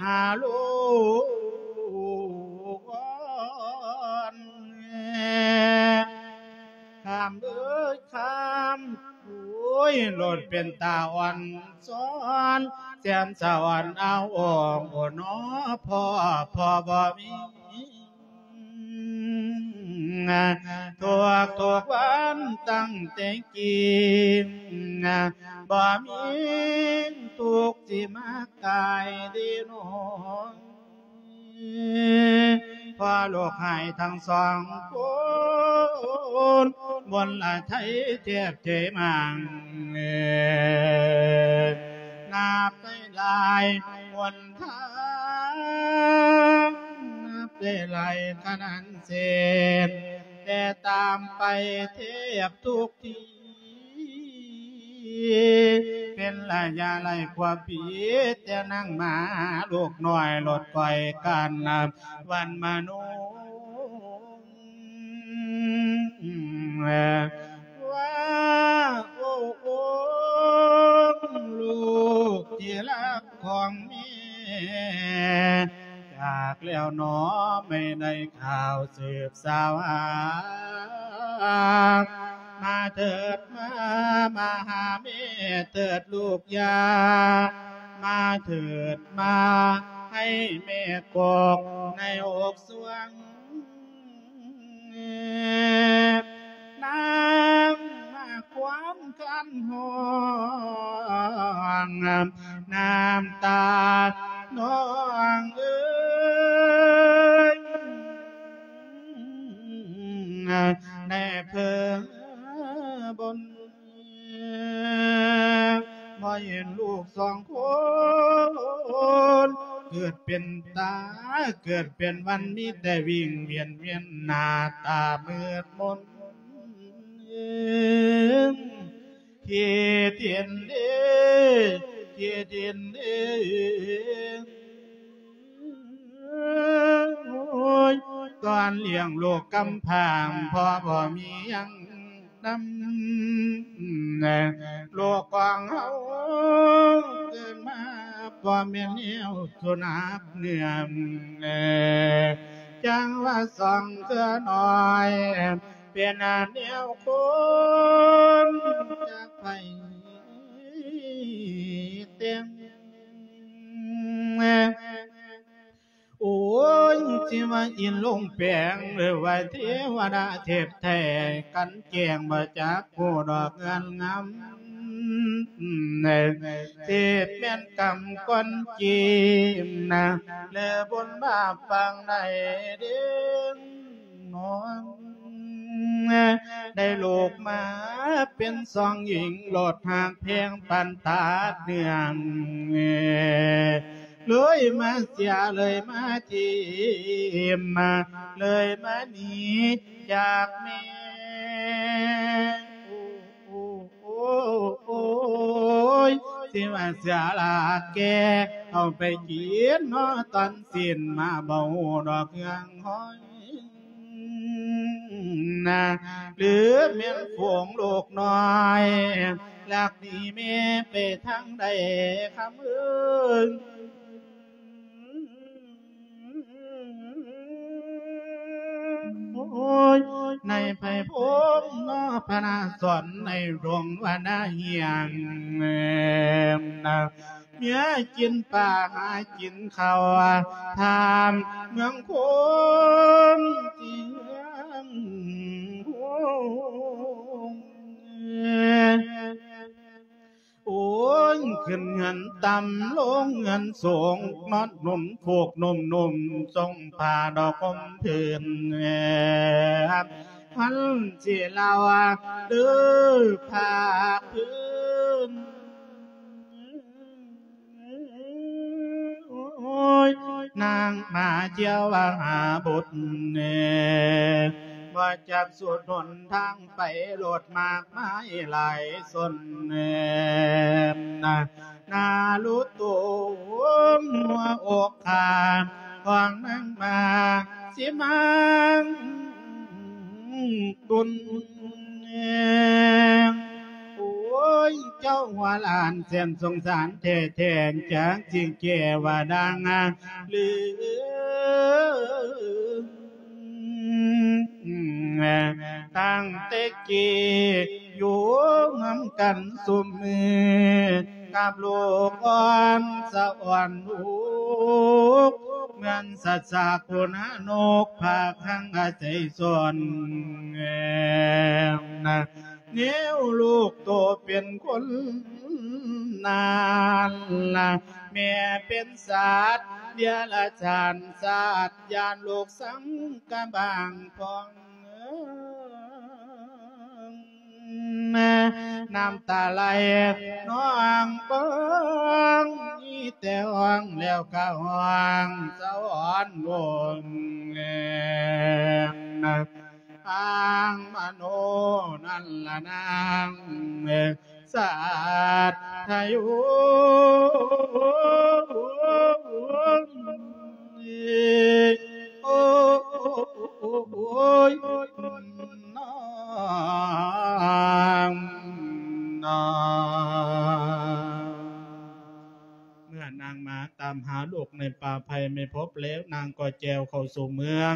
ຫາລູກອ່ອນ ຂ້າມເອີຍຂ້າມ ໂອ້ຍ ໂລດເປັນຕາອ່ອນຊ້ອນ ແສນສະອອນເອົາອອງ ໂອ້ ໜໍພໍ່ ພໍ່ບໍ່ມີ ທຸກໆວັນຕັ້ງແຕ່ກີ້ ບໍ່ມີທຸກຊິມາກາຍເດໂນ ພໍ່ລູກຫາຍທັງສອງຄົນ ມົນລະໄທແທບເຈມັງ ນັບໄດ້ຫຼາຍຫົນທາງ ນັບໄດ້ຫຼາຍຂະໜານເສນ ແຕ່ຕາມໄປແທບທຸກທີ່ ເປັນໄລຍະຫຼາຍກວ່າປີ ແຕ່ນາງໝາລູກນ້ອຍ ລົດກ້ອຍກັນວັນມະໂນ ວ່າ ໂອ້ ໂອ້ ລູກທີ່ຮັກຂອງແມ່ ຈາກແລ້ວໜໍ ແມ່ໄດ້ຂ່າວສືບສາວຫາ ມາເຖີດມາ ມາຫາແມ່ເຖີດລູກຢ່າ ມາເຖີດມາ ໃຫ້ແມ່ກົກໃນອົກສວງ ນາງມາຄວາມຄັນຮ້ອງ ນ້ຳຕານ້ອງເອີຍ ໃນເພີງບົນ ບໍ່ເຫັນລູກສອງຄົນ ເກີດເປັນຕາ ເກີດເປັນວັນ ມີແຕ່ວິ່ງວຽນ ວຽນໜ້າຕາມືດມົນ ເອີ ເຂດເຫັນເດ້ ເຂດເຫັນເດ້ ໂອ້ຍ ຕອນລ້ຽງລູກກຳພ້າງ ພໍ່ບໍ່ມີຫຍັງນຳ ລູກຂອງເຮົາເກີດມາ ບໍ່ແມ່ນແນວສຸນັບເໜືອມ ຈັ່ງວ່າສອງເທື່ອນ້ອຍ ເປັນແນວຄົນຈັກໃຜແຕ່ງ ໂອ້ຍ ຊິວ່າອິນລົງແປງ ຫຼືວ່າເທວະດາເທບແທ້ ກັນແຈ້ງບໍ່ຈັກຮູ້ດອກເງື່ອນງຳ ເທບແມ່ນກຳກ່ອນຈີນນະ ຫຼືບຸນບາບປາງໃດເດ້ ນ້ອງ ໄດ້ລູກມາເປັນສອງຍິງ ໂລດຮັກແພງປານຕາດເໜືອງ ເລີຍມາເສຍ ເລີຍມາຖິ້ມ ເລີຍມາໜີຈາກແມ່. ໂອ້ ໂອ້ ໂອ້ຍ ຊິວ່າເສຍລາກແກ່ ເອົາໄປກິນເນາະຕອນຊີ້ນ ມາບໍ່ຮູ້ດອກເຄື່ອງຫອຍ ນະ ຫຼືແມ່ນຝູງລູກນ້ອຍ ລັກໜີແມ່ໄປທາງໃດ ຄຳເອີຍ. ໂອ້ຍ ໃນໄພພົມເນາະ ພະນະສອນໃນດົງວະນະເຮຍງ ນະ ເມຍກິນປາຫາກິນເຂົ້າ ທ່າມເມືອງຄົນທີ່ເມືອງ ໂອ້ຍ ຂຶ້ນເຮືອນຕ່ຳ ລົງເຮືອນສູງ ນອນໜູນຟູກໜຸ່ມໆ ຊົງຜ້າດອກຫົ່ມພື້ນ ພັນສີລາວ ຫຼືຜ້າພື້ນ. ໂອ້ຍ ນາງມາຈຽວຫາບຸດ ບໍ່ຈັກສຸດຫົນທາງໄປ ລົດມາກມາຍຫຼາຍຊົນ ນາລຸໂຕນຫົວອົກຂ້າ ຂອງນາງມາຊິມາບຸນ. ໂອ້ຍ ເຈົ້າຫົວຫຼານແສນສົງສານແທ້ໆ ຈັກຊິແກ້ວ່າດັງ ຫຼື ຕັ້ງແຕ່ກີ້ຢູ່ນຳກັນຊຸມມື້ ກັບລູກອ່ອນສະອອນລູກ ເໝືອນສັດສາຄຸນນະນົກ ພາກຮັງອາໄສສອນ ແນວລູກໂຕເປັນຄົນນັ້ນລະ ແມ່ເປັນສັດເດຍລະສານ ສັດຢ້ານລູກສັງກະບາງພອງ ນ້ຳຕາໄຫຼນອງກອງ ມີແຕ່ຮ້ອງແລ້ວກະຮ້ອງສະຫວອນວົງ ອ້າງມະໂນນັ້ນລະນາງ ສັດທະໂຍ ໂອ້ ໂອ້ ໂອ້ ໂອ້ຍ ນ້ອງ ນ້ອງ. ເມື່ອນາງມາຕາມຫາລູກໃນປ່າໄຜ່ໄມ່ພົບແລ້ວ ນາງກໍແຈວເຂົ້າສູ່ເມືອງ.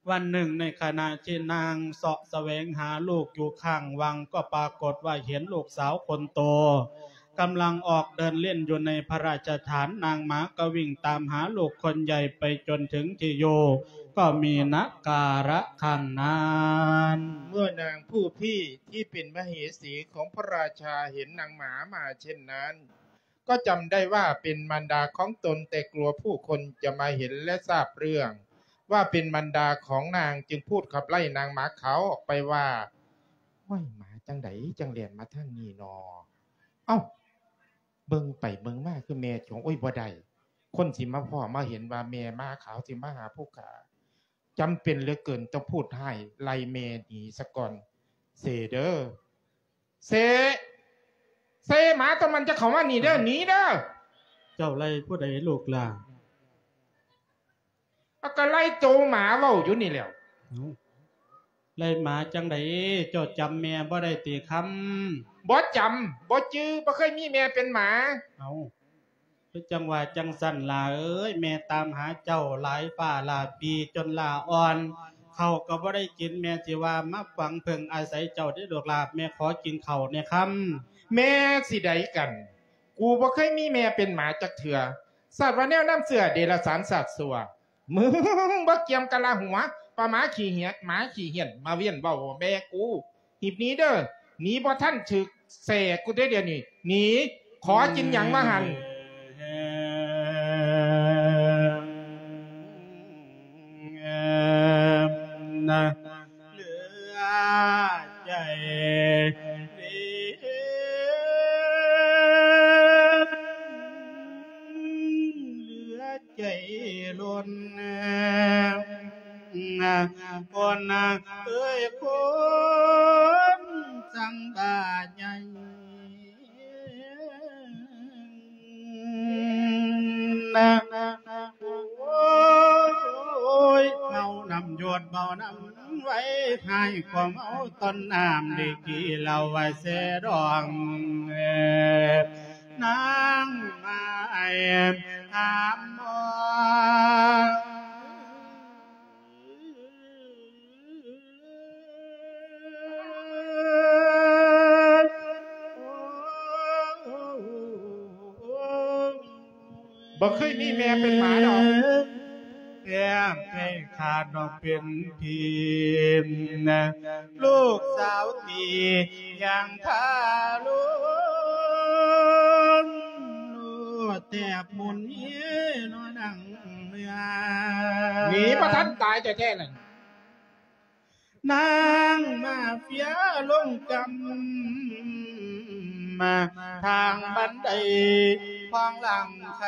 ວັນໜຶ່ງໃນຂະນະທີ່ນາງເຊາະສະແຫວງຫາລູກຢູ່ຂ້າງວັງ ກໍປາກົດວ່າເຫັນລູກສາວຄົນໂຕກຳລັງອອກເດີນຫຼິ້ນຢູ່ໃນພະລາຊະຖານ. ນາງໝາກໍວິ່ງຕາມຫາລູກຄົນໃຫຍ່ໄປຈົນເຖິງທີ່ຢູ່ ກໍມີນະກາລະຄັ້ງນັ້ນ. ເມື່ອນາງຜູ້ພີ້ທີ່ເປັນມະເຫສີຂອງພະລາຊາເຫັນນາງໝາມາເຊັ່ນນັ້ນ ກໍຈຳໄດ້ວ່າເປັນມານດາຂອງຕົນ, ແຕ່ກົວຜູ້ຄົນຈະມາເຫັນ ແລະ ຊາບເລື່ອງວ່າເປັນມານດາຂອງນາງ, ຈຶ່ງພູດຂັບໄລ່ນາງໝາຂາວອອກໄປວ່າ, ຫ້ວຍ, ໝາຈັ່ງໃດຈັ່ງແລ່ນມາທາງນີ້ນໍ? ເອົ້າ, ເບິ່ງໄປເບິ່ງມາຄືແມ່ຂອງ, ໂອ້ຍ, ບໍ່ໄດ້, ຄົນຊິມາພໍ້ມາເຫັນວ່າແມ່ໝາຂາວຊິມາຫາຜູ້ຂ້າ. ຈຳເປັນເຫຼືອເກີນ, ຕ້ອງພູດຮ້າຍໄລ່ແມ່ໜີສາກ່ອນ. ເຊເດີ. ເຊ ເຊ ໝາຕົວນັ້ນຈະເຂົ້າມານີ້ເດີ, ໜີເດີ. ເຈົ້າໄລ່ຜູ້ໃດລູກຫຼ້າ? ອາ ກໍໄລ່ໂຕໝາເວົ້າຢູ່ນີ້ແຫຼ້ວ. ເອົ້າ, ໄລ່ໝາຈັ່ງໃດ? ເຈົ້າຈຳແມ່ບໍ່ໄດ້ຕິຄຳ? ບໍ່ຈຳ, ບໍ່ຈື່, ບໍ່ເຄີຍມີແມ່ເປັນໝາ. ເອົ້າ. ຄືຈັ່ງວ່າຈັ່ງຊັ້ນຫຼ້າເອີຍ, ແມ່ຕາມຫາເຈົ້າຫຼາຍຟ້າຫຼາຍປີຈົນຫຼ້າອ່ອນ, ເຂົ້າກໍບໍ່ໄດ້ກິນ, ແມ່ຊິວ່າມາຫວັງເພິ່ງອາໄສເຈົ້າເດ້ລູກຫຼ້າ, ແມ່ຂໍກິນເຂົ້າແດ່ຄຳ. ແມ່ຊິໃດກັນ? ກູບໍ່ເຄີຍມີແມ່ເປັນໝາຈັກເທື່ອ. ຊາດວ່າແນວນ້ຳເຊື້ອເດລະສານຊາດຊົ່ວ. ມຶງບໍ່ກຽມກະລະຫົວ, ປາໝາຂີ້ເຫຍ, ໝາຂີ້ເຫຍນ, ມາວຽນເວົ້າແມ່ກູ. ຮີບໜີເດີ, ໜີບໍ່ທັນຖືກແສ້ກູເດ້ດຽວນີ້, ໜີ, ຂໍກິນຫຍັງວ່າຫັ້ນ? ເຫຼືອໃຈ ໂອ້ຍ ເມົານ້ຳຢົດເມົານ້ຳໄວ ໃຫ້ຄວາມເມົາຕ້ອນນ້ຳ ໄດ້ກິນເຫຼົ້າໄວແຊດອງ ນາງມາໄອຫາມມອງ ບໍ່ເຄີຍມີແມ່ເປັນໝາດອກ ແກ້ມໃຫ້ຂາດນ້ອງເປັນພີ ລູກສາວຕີຢ່າງທາລຸນ ໂລດແທບໝຸນເຮນອນດັງເມືອ ໜີບໍ່ທັນຕາຍແທ້ໆນັ້ນ ນາງມາເຟຍລົງກຳ ທາງບັນໄດຂອງຫຼັງໄຄ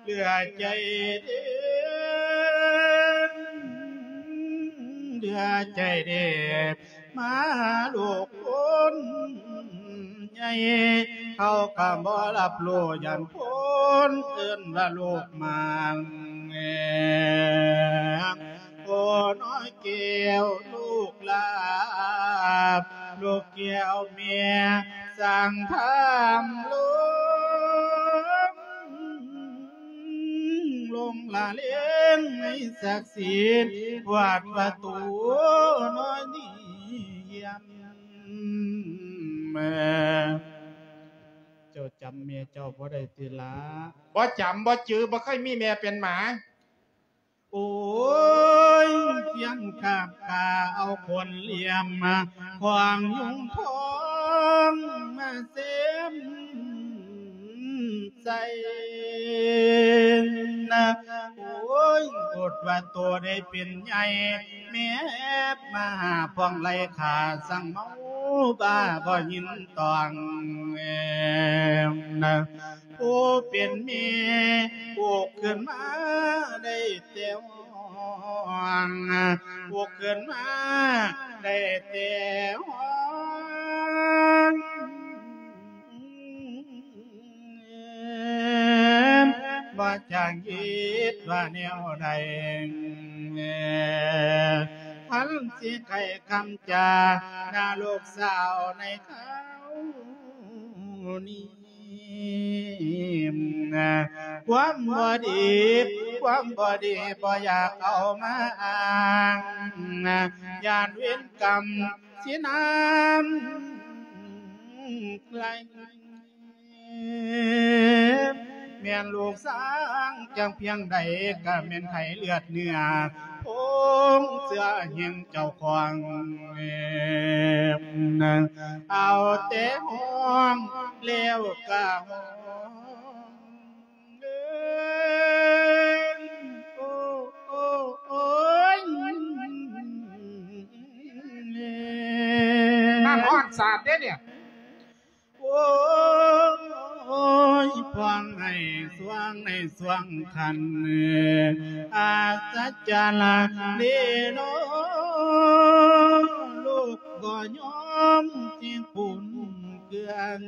ເຫຼືອໃຈເດ້ ເຫຼືອໃຈເດ້ ມາລູກຄົນໃຫຍ່ ເຂົາກໍບໍ່ຮັບຮູ້ຢ້ານຄົນເອີ້ນວ່າລູກໝາງ ໂອ້ ນ້ອຍແກ້ວລູກຫຼາ ລູກແກ້ວແມ່ສ້າງທຳລົງ ຫຼົງລະເລງໃນສັກສີ ກວາດປະຕູນ້ອຍນີ້ຢ້ຽມ ເຈົ້າຈຳແມ່ເຈົ້າບໍ່ໄດ້ຕິລະ? ບໍ່ຈຳບໍ່ຈື່ ບໍ່ເຄີຍມີແມ່ເປັນໝາ. ໂອ້ຍ ພຽງກາບກາເອົາຂົນຫຼຽມ ຂວາງຍຸງທອງມາເຊັມໃສ່ນະ ໂອ້ຍ ອົດວ່າໂຕໄດ້ເປັນໃຫຍ່ ແມ່ມາຫາພວງໄລ່ຂ້າ ສັງເມົາບ້າບໍ່ຍິນຕ້ອງນະ ຜູ້ເປັນແມ່ປຸກຂຶ້ນມາໄດ້ແຕ່ ປຸກຂຶ້ນມາໄດ້ແຕ່ຮ້ອງ ບໍ່ຈັກຄິດວ່າແນວໃດ ຄັນຊິໄຂຄຳຈານາລູກສາວໃນຄາວນີ້ ຄວາມບໍ່ດີ ຄວາມບໍ່ດີບໍ່ຢາກເອົາມາອ້າງ ຢ້ານເວນກຳຊິນານໄກ ແມ່ນລູກຊ້າງຈັກພຽງໃດ ກໍແມ່ນໄຂ້ເລືອດເນື້ອ ພົງເຊື້ອແຫ່ງເຈົ້າຂອງ ເອົາແຕ່ຮ້ອງແລ້ວກະຮ້ອງ ໂອ້ ໂອ້ ໂອ້ຍ ນ້ຳຮ້ອນສາດເດ້ເນຍ ໂອ້ຍ ພວງໃຫ້ສວງໃນສວງຄັນ ອັດສະຈັນເດເນາະ ລູກບໍ່ຍອມຊິຂຸນເຄືອງ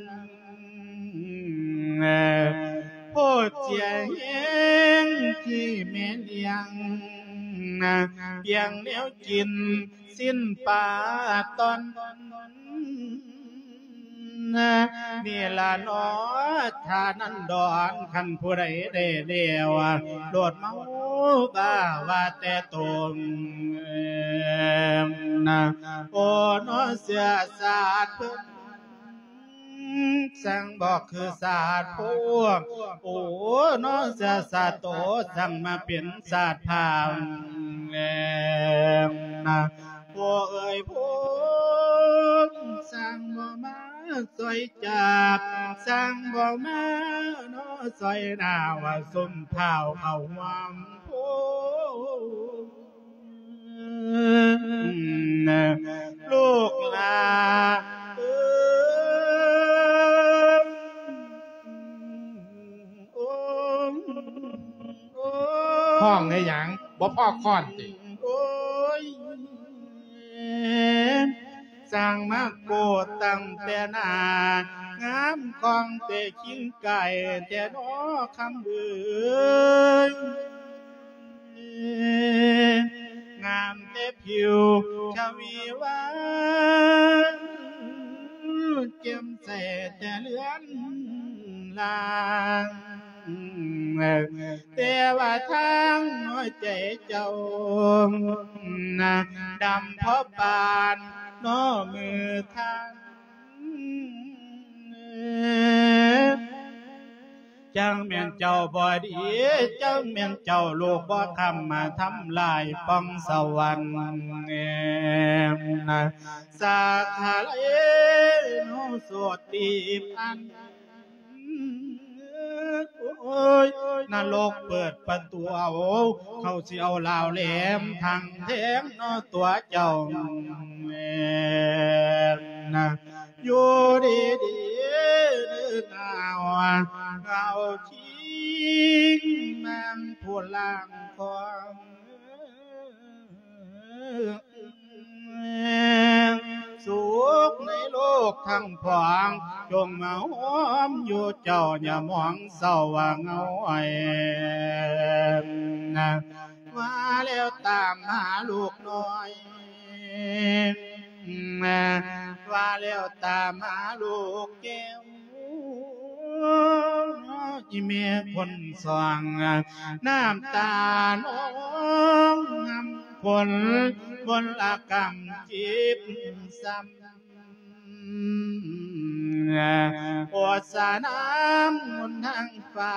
ໂພດເສຍແຮງທີ່ແມ່ລ້ຽງ ປ່ຽງແນວກິນ ຊີ້ນປາຕອນ ນີ້ລະເນາະ ທ່ານນັ້ນດອນ ຄັນຜູ້ໃດໄດ້ແລ້ວ ໂລດເມົາບ້າວ່າແຕ່ຕົນ ໂອ້ ເນາະ ເຊື້ອຊາດເພິ່ນ ຊ່າງບໍ່ຄືຊາດພວກ ໂອ້ ເນາະ ຊາດ ຊາດໂຕ ຊ່າງມາເປັນຊາດພາວແລ້ວນະ ໂອ້ເອີຍ ພວກຊ່າງບໍ່ມາຊ່ອຍຈັບ ຊ່າງບໍ່ມາເນາະ ຊ່ອຍໜ້າວ່າຊຸມພາວເຂົ້າຮ່ວມໂພ ລູກຫຼ້າເອີຍ ໂອ້ ໂອ້ ຮ້ອງໃຫ້ຫຍັງ? ບໍ່ພໍຄ້ອນຕິ? ໂອ້ຍ ສ້າງມາໂກດຕັ້ງແຕ່ໜ້າ ງາມຄອງແຕ່ຄິງກາຍແທ້ນໍຄຳເອີຍ ງາມແຕ່ຜິວຊະວີວາ ແຈ່ມໃສແຕ່ເລືອນລາງ ແຕ່ວ່າທາງຫົວໃຈເຈົ້າ ນະ ດຳພໍປານນໍມືທ່ານ ຈັ່ງແມ່ນເຈົ້າບໍ່ດີ ຈັ່ງແມ່ນເຈົ້າລູກບໍ່ທຳ ມາທຳລາຍປ່ອງສະຫວັນ ນະ ສາກຂະເລໂນໂສດຕິພັນ ໂອ້ຍ ນະລົກເປີດປະຕູເອົາ ເຂົາຊິເອົາລາວແຫຼມທັງແທງເນາະຕົວເຈົ້າ ນະ ຢູ່ດີໆ ເດີນາວ ເອົາຄິງນາງຜູ້ລ່າງຄອງ ສຸກໃນໂລກທັງພວງ ຈົ່ງມາໂຮມຢູ່ເຈົ້າ ຢ່າມອງເສົ້າວ່າເຫງົາອ້ອຍ ນະ ວ່າແລ້ວຕາມຫາລູກນ້ອຍ ນະ ວ່າແລ້ວຕາມຫາລູກແກ້ວ ອີແມ່ຄົນສອງ ນ້ຳຕານອງ ນ້ຳຝົນມົນລະກຳຈິບຊ້ຳ ໂອດສານ້ຳມົນທາງຟ້າ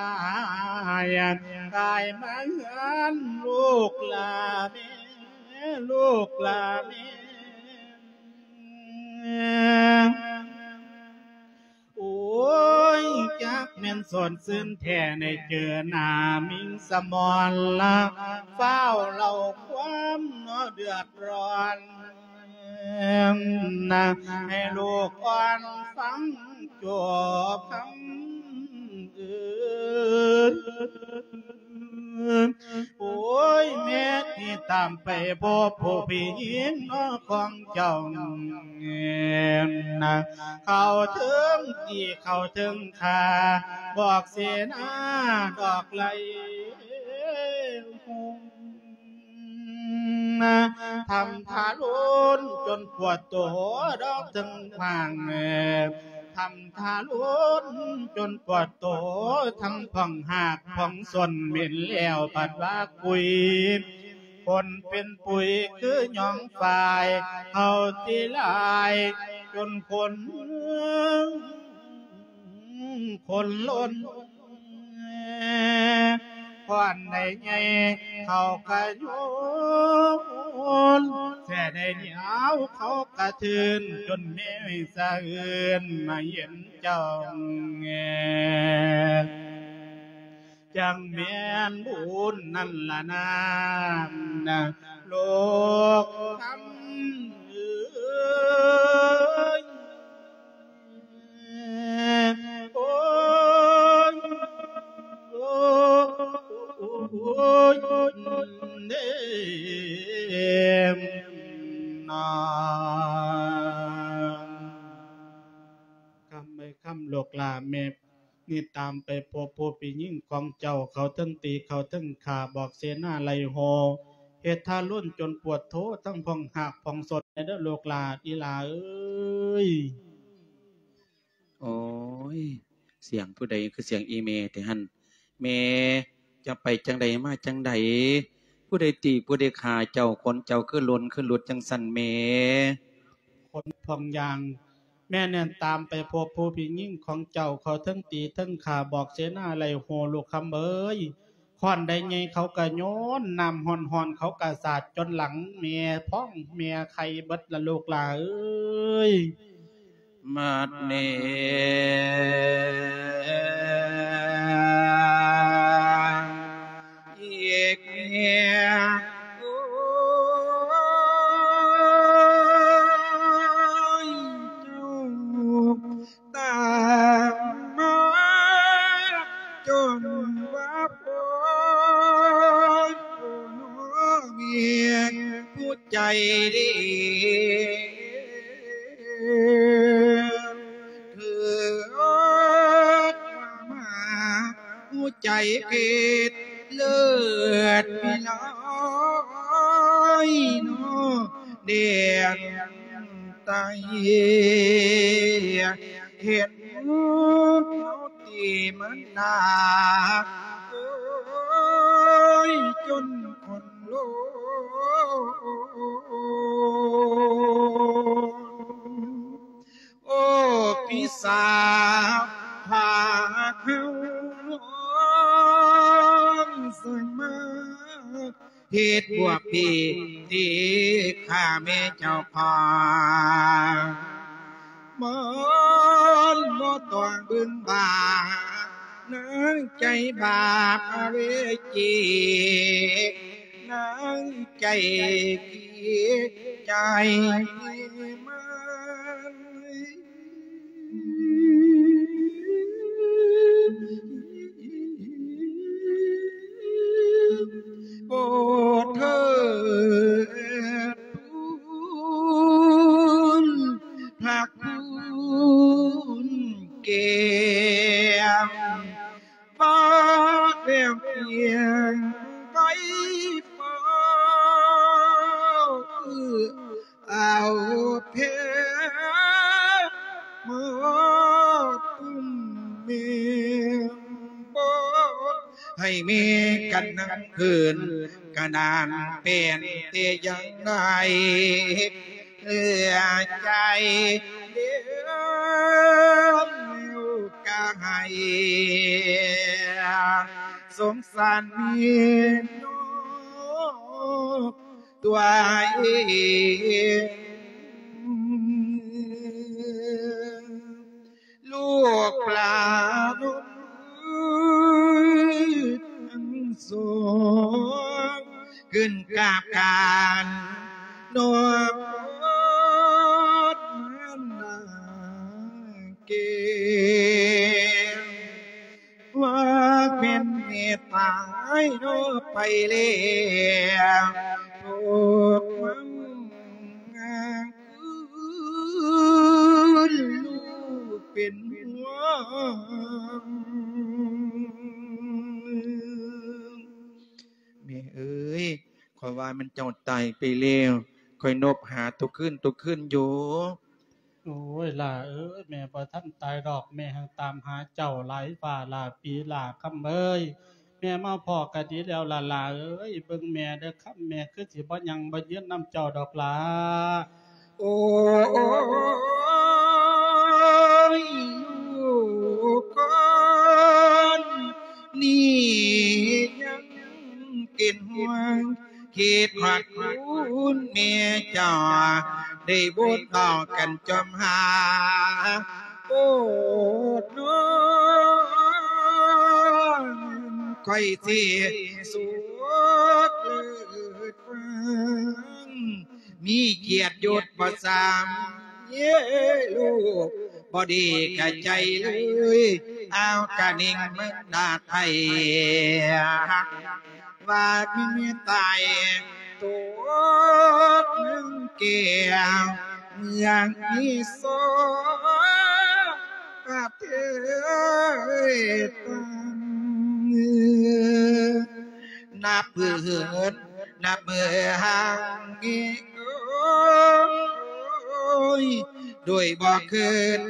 ກາຍມາເຮືອນລູກຫຼ້າແມ່ ລູກຫຼ້າແມ່ ໂອ້ຍ ຈັກແມ່ນສອນຊື່ນແທ້ ໄດ້ເຈີໜ້າມິງສະໝອນລະ ຟ້າວເລົ່າຄວາມເນາະເດືອດຮ້ອນ ນະ ໃຫ້ລູກອ່ອນຟັງຈົບຄຳເອີຍ ໂອ້ຍ ແມ່ທີ່ຕາມໄປພົບຜູ້ພີ່ຍິງເນາະຂອງເຈົ້າ ນະ ເຂົາເຖິງຕີເຂົາເຖິງຂ້າ ບອກເສນາດອກໄລ່ ນະ ທຳທາລຸນຈົນປວດໂຕດອກເຖິງພາງ ທຳທາລຸນຈົນປວດໂຕ ທັງພອງຮາກພອງສົ້ນ ເໝັນແລ້ວບັດວ່າກຸຍ ຄົນເປັນປຸຍຄືຫຍອງຝ້າຍ ເຮົາຕິຫຼາຍຈົນຄົນ ຄົນລົ້ນ ຄວັນໃດໃຫຍ່ເຂົາກະໂຍນ ແສໃດໜຽວເຂົາກະເທີນ ຈົນແມ່ສະເອືອນມາເຫັນເຈົ້າ ຈັ່ງແມ່ນບຸນນັ້ນລະນາ ນະ ລູກຄຳເອີຍ ໂອ້ຍ ໂອ້ຍ ເນມນາ ຄຳເອີຍ ຄຳ ລູກຫຼ້າແມ່ ນີ້ຕາມໄປພົບຜູ້ພີ່ຍິງຂອງເຈົ້າ ເຂົາເຖິງຕີເຂົາເຖິງຂ້າ ບອກເສນາໄລ່ໂຫ ເຮັດທາລຸນຈົນປວດໂທ ທັງພອງຮາກພອງສົ້ນເດີລູກຫຼ້າ ອີຫຼ້າເອີຍ. ໂອ້ຍ ສຽງຜູ້ໃດຄືສຽງອີ່ແມ່ແທ້ຫັ້ນ? ແມ່ ຈະໄປຈັ່ງໃດມາຈັ່ງໃດ? ຜູ້ໃດຕີຜູ້ໃດຂ້າເຈົ້າ? ຂົນເຈົ້າຄືຫຼົ່ນຄືຫຼຸດຈັ່ງຊັ້ນແມ່? ຂົນພອງຢ່າງ ແມ່ແລ່ນຕາມໄປພົບຜູ້ພີ່ຍິງຂອງເຈົ້າ ເຂົາເຖິງຕີເຖິງຂ້າ ບອກເສນາໄລ່ໂຫ ລູກຄຳເອີຍ. ຄ້ອນໃດໃຫຍ່ເຂົາກະໂຍນ ນ້ຳຮ້ອນໆເຂົາກະສາດຈົນຫຼັງແມ່ພອງແມ່ໄຂ່ເບິດລະລູກຫຼ້າເອີຍ. ມາດແນ ອີກແນ ໂອ້ຍ ເຈົ້າ ຕາມມາຈົນວ່າພໍ ໂອ້ ເມຍຜູ້ໃຈດີ. ເທີມາ ຫົວໃຈເພດເລີດພິລອຍເນາະ ແດນໃຕ້ ເຫັນເຮົາຕິມັນໜາ ໂອ້ຍ ຈົນຄົນ ໂລ ໂອ້ ພີ່ສາວພາເຮົານ້ອງສັງມາ ເຮັດບວກຜິດທີ່ຂ້າແມ່ເຈົ້າຂອງ ມັນບໍ່ຕ້ອງເບິ່ງບາ ນາງໃຈບາບອະເວຈີ ນາງໃຈຂີ້ໃຈມັນ ໂອ້ ເທີ ພະຄຸນແກ້ມ ບາດແວວພຽງໄປຟ້າວ ເອົາແພມາຕຸ້ມແມ່ ບໍ່ໃຫ້ແມ່ກັນນຳຄືນ ກະນານແປນແຕ່ຢ່າງໃດ ເຫຼືອໃຈເດີນແລ້ວກະໃຫ້ ສົງສານແມ່ນ້ອງຕົວເອງ ລູກປານ້ອງທັງສອງ ຂຶ້ນກາບການນອບມານາແກ່ ວ່າແມ່ນແມ່ຕາຍເນາະໄປແລ້ວ ໂລກມັນຄືລູກເປັນຫ່ວງ ແມ່ເອີຍ ຂ້ອຍວ່າແມ່ນເຈົ້າຕາຍໄປແລ້ວ ຂ້ອຍນົບຫາທຸກຄືນທຸກຄືນຢູ່. ໂອ້ຍ ຫຼ້າເອີຍ ແມ່ບໍ່ທັນຕາຍດອກ ແມ່ຫັ້ນຕາມຫາເຈົ້າຫຼາຍຟ້າຫຼ້າປີຫຼ້າ ຄຳເອີຍ ແມ່ມາພໍ້ກະດີແລ້ວລະຫຼ້າເອີຍ ເບິ່ງແມ່ເດີ ຄຳແມ່ຄືຊິບໍ່ຍັ່ງບໍ່ຍືນນຳເຈົ້າດອກຫຼ້າ. ໂອ້ຍ ລູກຄົນນີ້ຍັງເປັນຫ່ວງ ຄິດຮອດຄຸນແມ່ເຈົ້າ ໄດ້ບົດເວົ້າກັນຈອມຫາ ໂອ້ ນ້ອງ ຂ້ອຍຊິສວດເລີດຟັງ ມີກຽດຍົດບໍ່ສ່ຳ ເຍ ລູກ ບໍ່ດີກະໃຈເລີຍ ເອົາກະນິງເມືອງດາໄທ ວ່າມີຕາຍໂຕໜຶ່ງແກ້ວ ເມືອງອີສອນປະເທດຕ່າງ ນັບມື້ເຫີນ ນັບມື້ຫ່າງເຫີນ ໂອ້ຍ ໂດຍບໍ່ເຄີຍ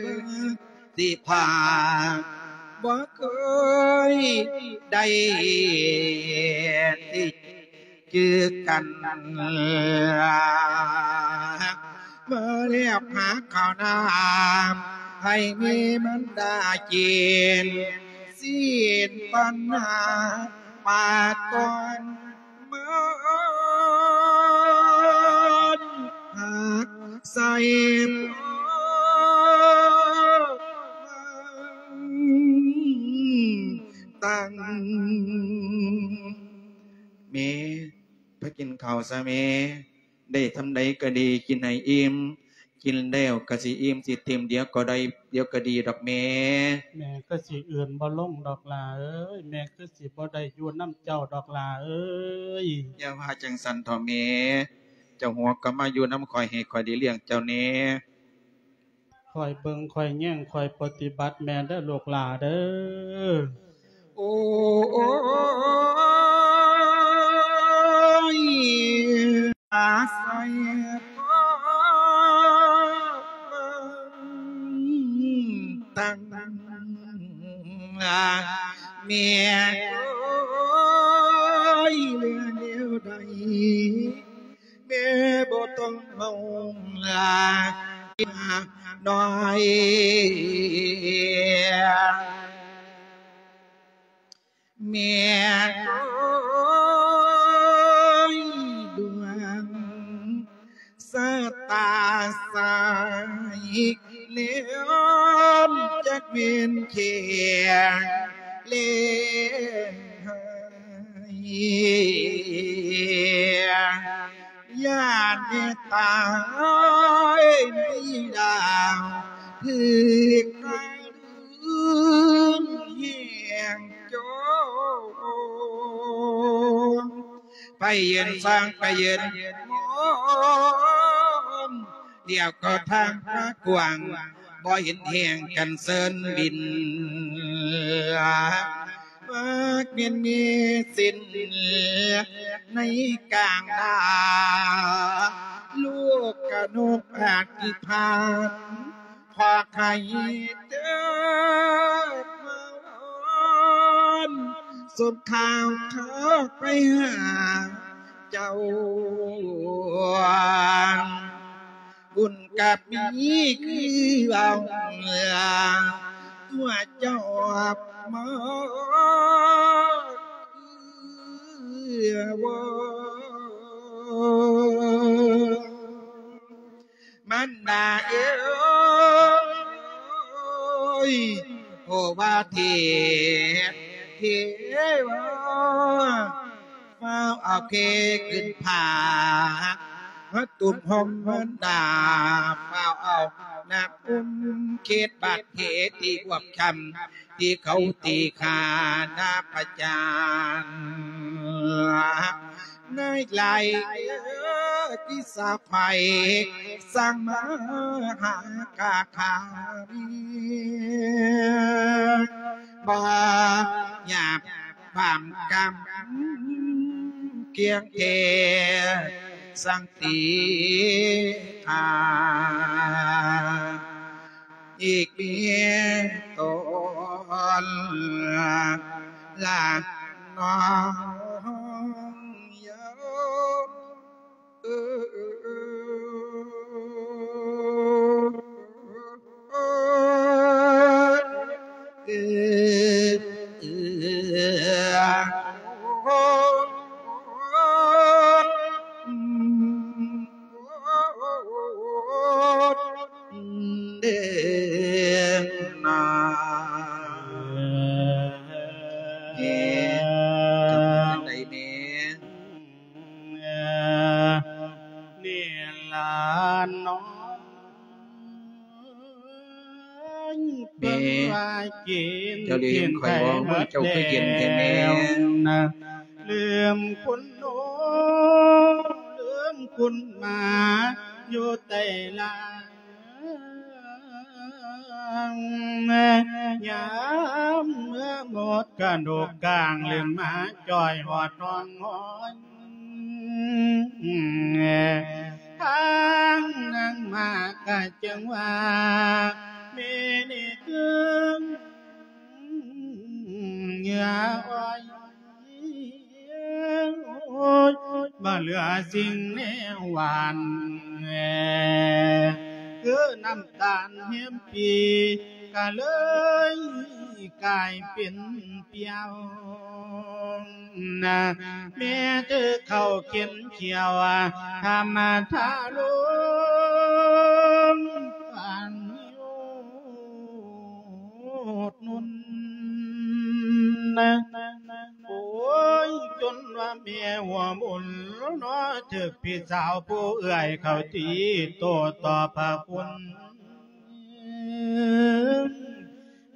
ຊິພາ ບໍ່ເຄີຍໄດ້ຕິດຈື່ກັນ ມາແລກຫາເຂົ້ານ້ຳໃຫ້ແມ່ມັນດາກິນ ຊີ້ນປັນຫາ ປາກກ່ອນມັນຫັກໃສ່ພໍ່ມັນຕັ້ງ ແມ່ ໄປກິນເຂົ້າຊະແມ່ ໄດ້ສ່ຳໃດກໍດີ ກິນໃຫ້ອີ່ມ ກິນແລ້ວກໍຊິອີ່ມຊິເຕັມ ດຽວກໍໄດ້ ດຽວກໍດີດອກແມ່. ແມ່ຄືຊິອື່ນບໍ່ລົງດອກຫຼ້າເອີຍ ແມ່ຄືຊິບໍ່ໄດ້ຢູ່ນຳເຈົ້າດອກຫຼ້າເອີຍ. ຢ່າວ່າຈັ່ງຊັ້ນເຖາະແມ່ ເຈົ້າຫົວກໍມາຢູ່ນຳຂ້ອຍ ໃຫ້ຂ້ອຍໄດ້ລ້ຽງເຈົ້າແດ່. ຄອຍເບິ່ງ ຄອຍແຍງ ຄອຍປະຕິບັດແມ່ເດີລູກຫຼ້າເດີ. ໂອ້ຍ ອາໄສກໍຕັ້ງ ແມ່ເອີຍ ເລື່ອງແນວໃດ ແມ່ບໍ່ຕ້ອງເວົ້າຫຼາຍນ້ອຍ ແມ່ເອີຍ ດວງຊະຕາສາຍແຫຼມ ຈັກແມ່ນແຂງແລງຮ້າຍ ຢ້ານແມ່ຕາຍໃນດາວ ຖືກ ແຮງໂຈນ ໄປຢືນຊອງ ໄປຢືນມອງ ດຽວກໍທາງຟ້າກວ້າງ ບໍ່ເຫັນແຮງກັນເຊີນບິນ ມັກແມ່ນມີສິນໃນກາງດາ ລູກກະນົກອະທິຖານ ຂໍໃຫ້ເດີມາວອນ ສົມຂ່າວເຂົ້າໄປຫາເຈົ້າ ບຸນກະມີຄືເວົ້າ ຕົວະຈອບມາຄືວອນ ມັນດາເອີຍ ໂອວາເທ ເທວາ ຟ້າວເອົາເຄຂຶ້ນຜາ ມາຕຸ້ມຫົ່ມມັນດາ ຟ້າວເອົານ້ຳອຸມເຂດບາດເທ ທີ່ບວບຊ້ຳ ທີ່ເຂົາຕີຂ້ານາປະຈານ ໃນໄລທີ່ສາໄຟ ສ້າງມາຫາກາຄາມີ ບໍ່ຫຍາບບາບກຳ ກຽງແທ້ສັງຕິພາ ອີກມີຕົນລະນ້ອງເຍົາ ເອີ ເອີ ເອີ ເດນາ ເອີ ຈັ່ງໃດແມ່ ນີ້ລະນ້ອງ ແມ່ ເພິ່ນວ່າກິນ ເຈົ້າລືມຂ້ອຍບໍ່? ມື້ເຈົ້າຄືເຢັນແທ້ແມ່ ນະ ລືມຄຸນໂນ ລືມຄຸນໝາ ຢູ່ໃຕ້ລາງ ຍາມເມື່ອໝົດກະດູກກາງ ລືມມາຈ່ອຍຮອດຫ້ອງຫ້ອຍ ທາງນາງມາກະຈຶ່ງວ່າ ແມ່ນີ້ຄືເຫຍື່ອອ້ອຍ ບໍ່ເຫຼືອສິ່ງແນວຫວານ ຄືນ້ຳຕານແຮມປີ ກະເລີຍກາຍເປັນ ປ່ຽວນະ ແມ່ຖືເຂົ້າເຂັນຂຽວ ທຳມະທາລົງປານໂຍດນຸນນະ ໂອ້ຍ ຈົນວ່າແມ່ຫົວໝຸນເນາະ ຖືກພີ່ສາວຜູ້ເອື້ອຍເຂົ້າຕີໂຕ້ຕອບພະຄຸນ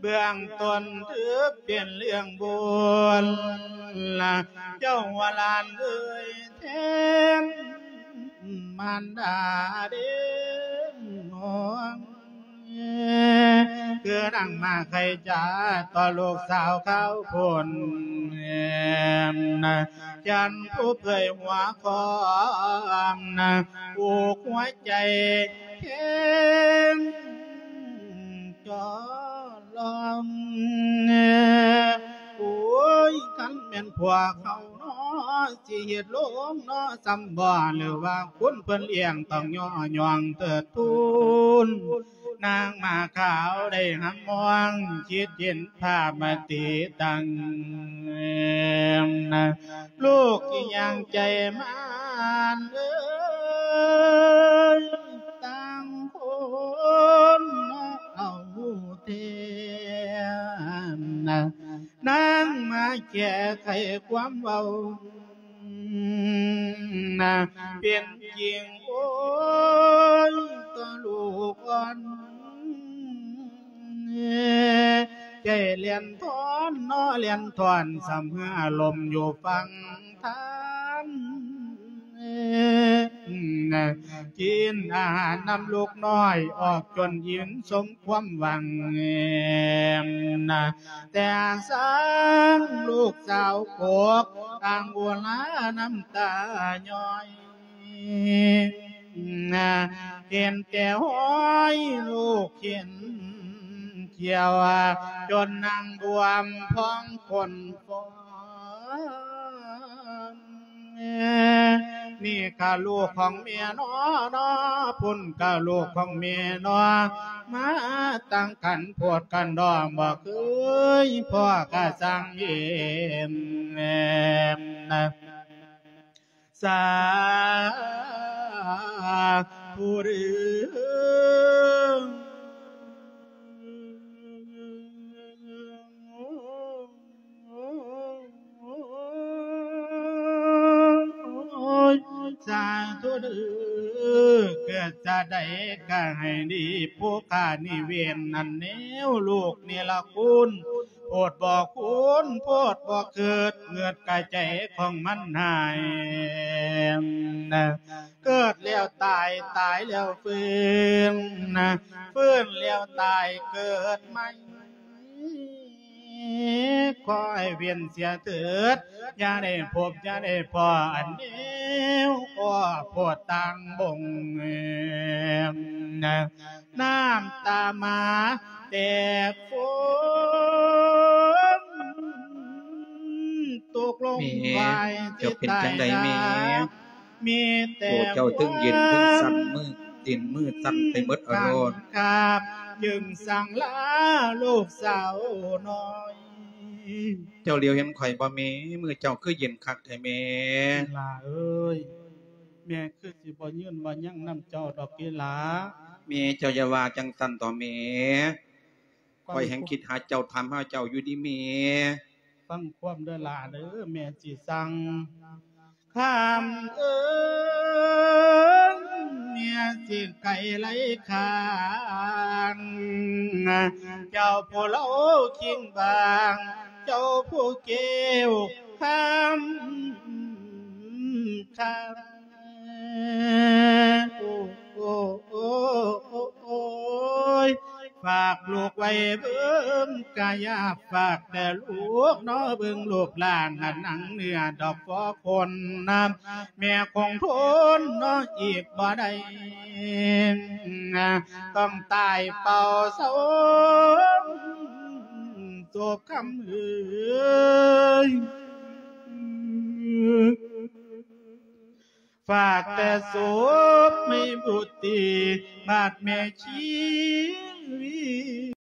ເບື້ອງຕົ້ນຖືເປັນເລື່ອງບຸນ ລະເຈົ້າວ່າຫຼານເອີຍແທນມານດາເດ້ນ້ອງ ນາງມາໄຄຈາຕໍ່ລູກສາວຂາວໂພນ ນະ ຈັນຜູ້ເຜີຍຫົວຄອງ ນະ ຜູກຫົວໃຈແຂງ ຈອລອງ ໂອ້ຍ ຄັນແມ່ນພວກເຮົາເນາະ ຊິເຮັດໂລງເນາະ ສ່ຳບໍ່ ຫຼືວ່າຄຸນເພິ່ນລ້ຽງ ຕ້ອງຍໍຍ້ອງເທີດທູນ ນາງມາຂາວໄດ້ຮຳມອງ ຄິດເຫັນພາບມາຕິຕັ້ງ ລູກຊິຍ່າງໃຈມານເອີຍ ຕ່າງຄົນເອົາແທ້ ນາງມາແກ້ໄຂຄວາມເວົ້າ ນະ ເປັນຈິງ ໂອ້ຍ ຕາລູກອ່ອນ ໃຈແລ່ນທອນເນາະ ແລ່ນທອນ ສ່ຳເຮືອລົມຢູ່ຝັ່ງທານ ນະ ກິນອາຫານນຳລູກນ້ອຍ ອອກຈົນອີ່ມສົມຄວາມຫວັງ ນະ ແຕ່ສ້າງລູກສາວກົກ ຕ່າງອຸລານ້ຳຕາຍ້ອຍ ເຫັນແຕ່ຮອຍລູກເຫັນຂຽວ ຈົນນັ່ງບວມພອງຄົນຟອງ ນີ້ກະລູກຂອງແມ່ນໍ ເນາະ ພຸ້ນກະລູກຂອງແມ່ນໍ ມາຕັ້ງກັນໂພດກັນດອງ ບໍ່ເຄີຍພໍ້ກະຊ່າງເຫັນ ສາທຸເດີ້ ສາທຸເດີ້ ເກີດຊາດໃດກະໃຫ້ດີ ຜູ້ຂ້ານີ້ເວນນັ້ນແນວ ລູກນີ້ລະຄຸນ ໂພດບໍ່ຄູນ ໂພດບໍ່ເກີດ ເກີດກະໃຈຂອງມັນຫາຍ ເກີດແລ້ວຕາຍ ຕາຍແລ້ວຟື້ນ ຟື້ນແລ້ວຕາຍເກີດໃໝ່ ຂໍໃຫ້ເວັ້ນເສຍເຖີດ ຢ່າໄດ້ພົບ ຢ່າໄດ້ພໍ້ ອັນແນວກໍໂພດຕ່າງບົງ ນ້ຳຕາມາແຕກຟົ້ນ ຕົກລົງ ແມ່ ຫວາຍ ເຈົ້າເປັນຈັ່ງໃດແມ່? ມີແຕ່ ໂອ້ ເຈົ້າເຖິງເຢັນເຖິງສັ່ນ ມື ຕີນມືສັ່ນໄປໝົດອາໂລດ ຄາບ ຈຶ່ງສັ່ງລາລູກສາວນ້ອຍ ເຈົ້າຫຼຽວເຫັນຂ້ອຍບໍ່ແມ່? ມືເຈົ້າຄືເຢັນຄັກແທ້ແມ່? ຫຼ້າເອີຍ ແມ່ຄືຊິບໍ່ຍືນບໍ່ຍັງນຳເຈົ້າດອກຕິຫຼ້າ. ແມ່ເຈົ້າຢ່າວ່າຈັ່ງຊັ້ນເຖາະແມ່ ຂ້ອຍແຮ່ງຄິດຫາເຈົ້າ ຖາມຫາເຈົ້າຢູ່ເດແມ່. ຟັງຄວາມເດີຫຼ້າເດີ ແມ່ຊິສັ່ງ ຄຳເອີຍ ແມ່ຊິໄກໄລ່ຄານ ເຈົ້າຜູ້ເລົ່າຄີງບາງ ເຈົ້າຜູ້ແກ້ວຄຳ ຄຳ ໂອ້ ໂອ້ ໂອ້ ໂອ້ ໂອ້ຍ ຝາກລູກໄວ້ເບິ່ງກາຍາ ຝາກແຕ່ລູກເນາະ ເບິ່ງລູກຫຼານ ອັນໜັງເນື້ອດອກພໍຄົນນຳ ແມ່ຄົງທົນເນາະອີກບໍ່ໄດ້ ຕ້ອງຕາຍເປົ່າເຊົາ ໂສບຄຳເອີຍ ຝາກແຕ່ສົບໃຫ້ບຸດຕີ ບາດແມ່ຊີວິດ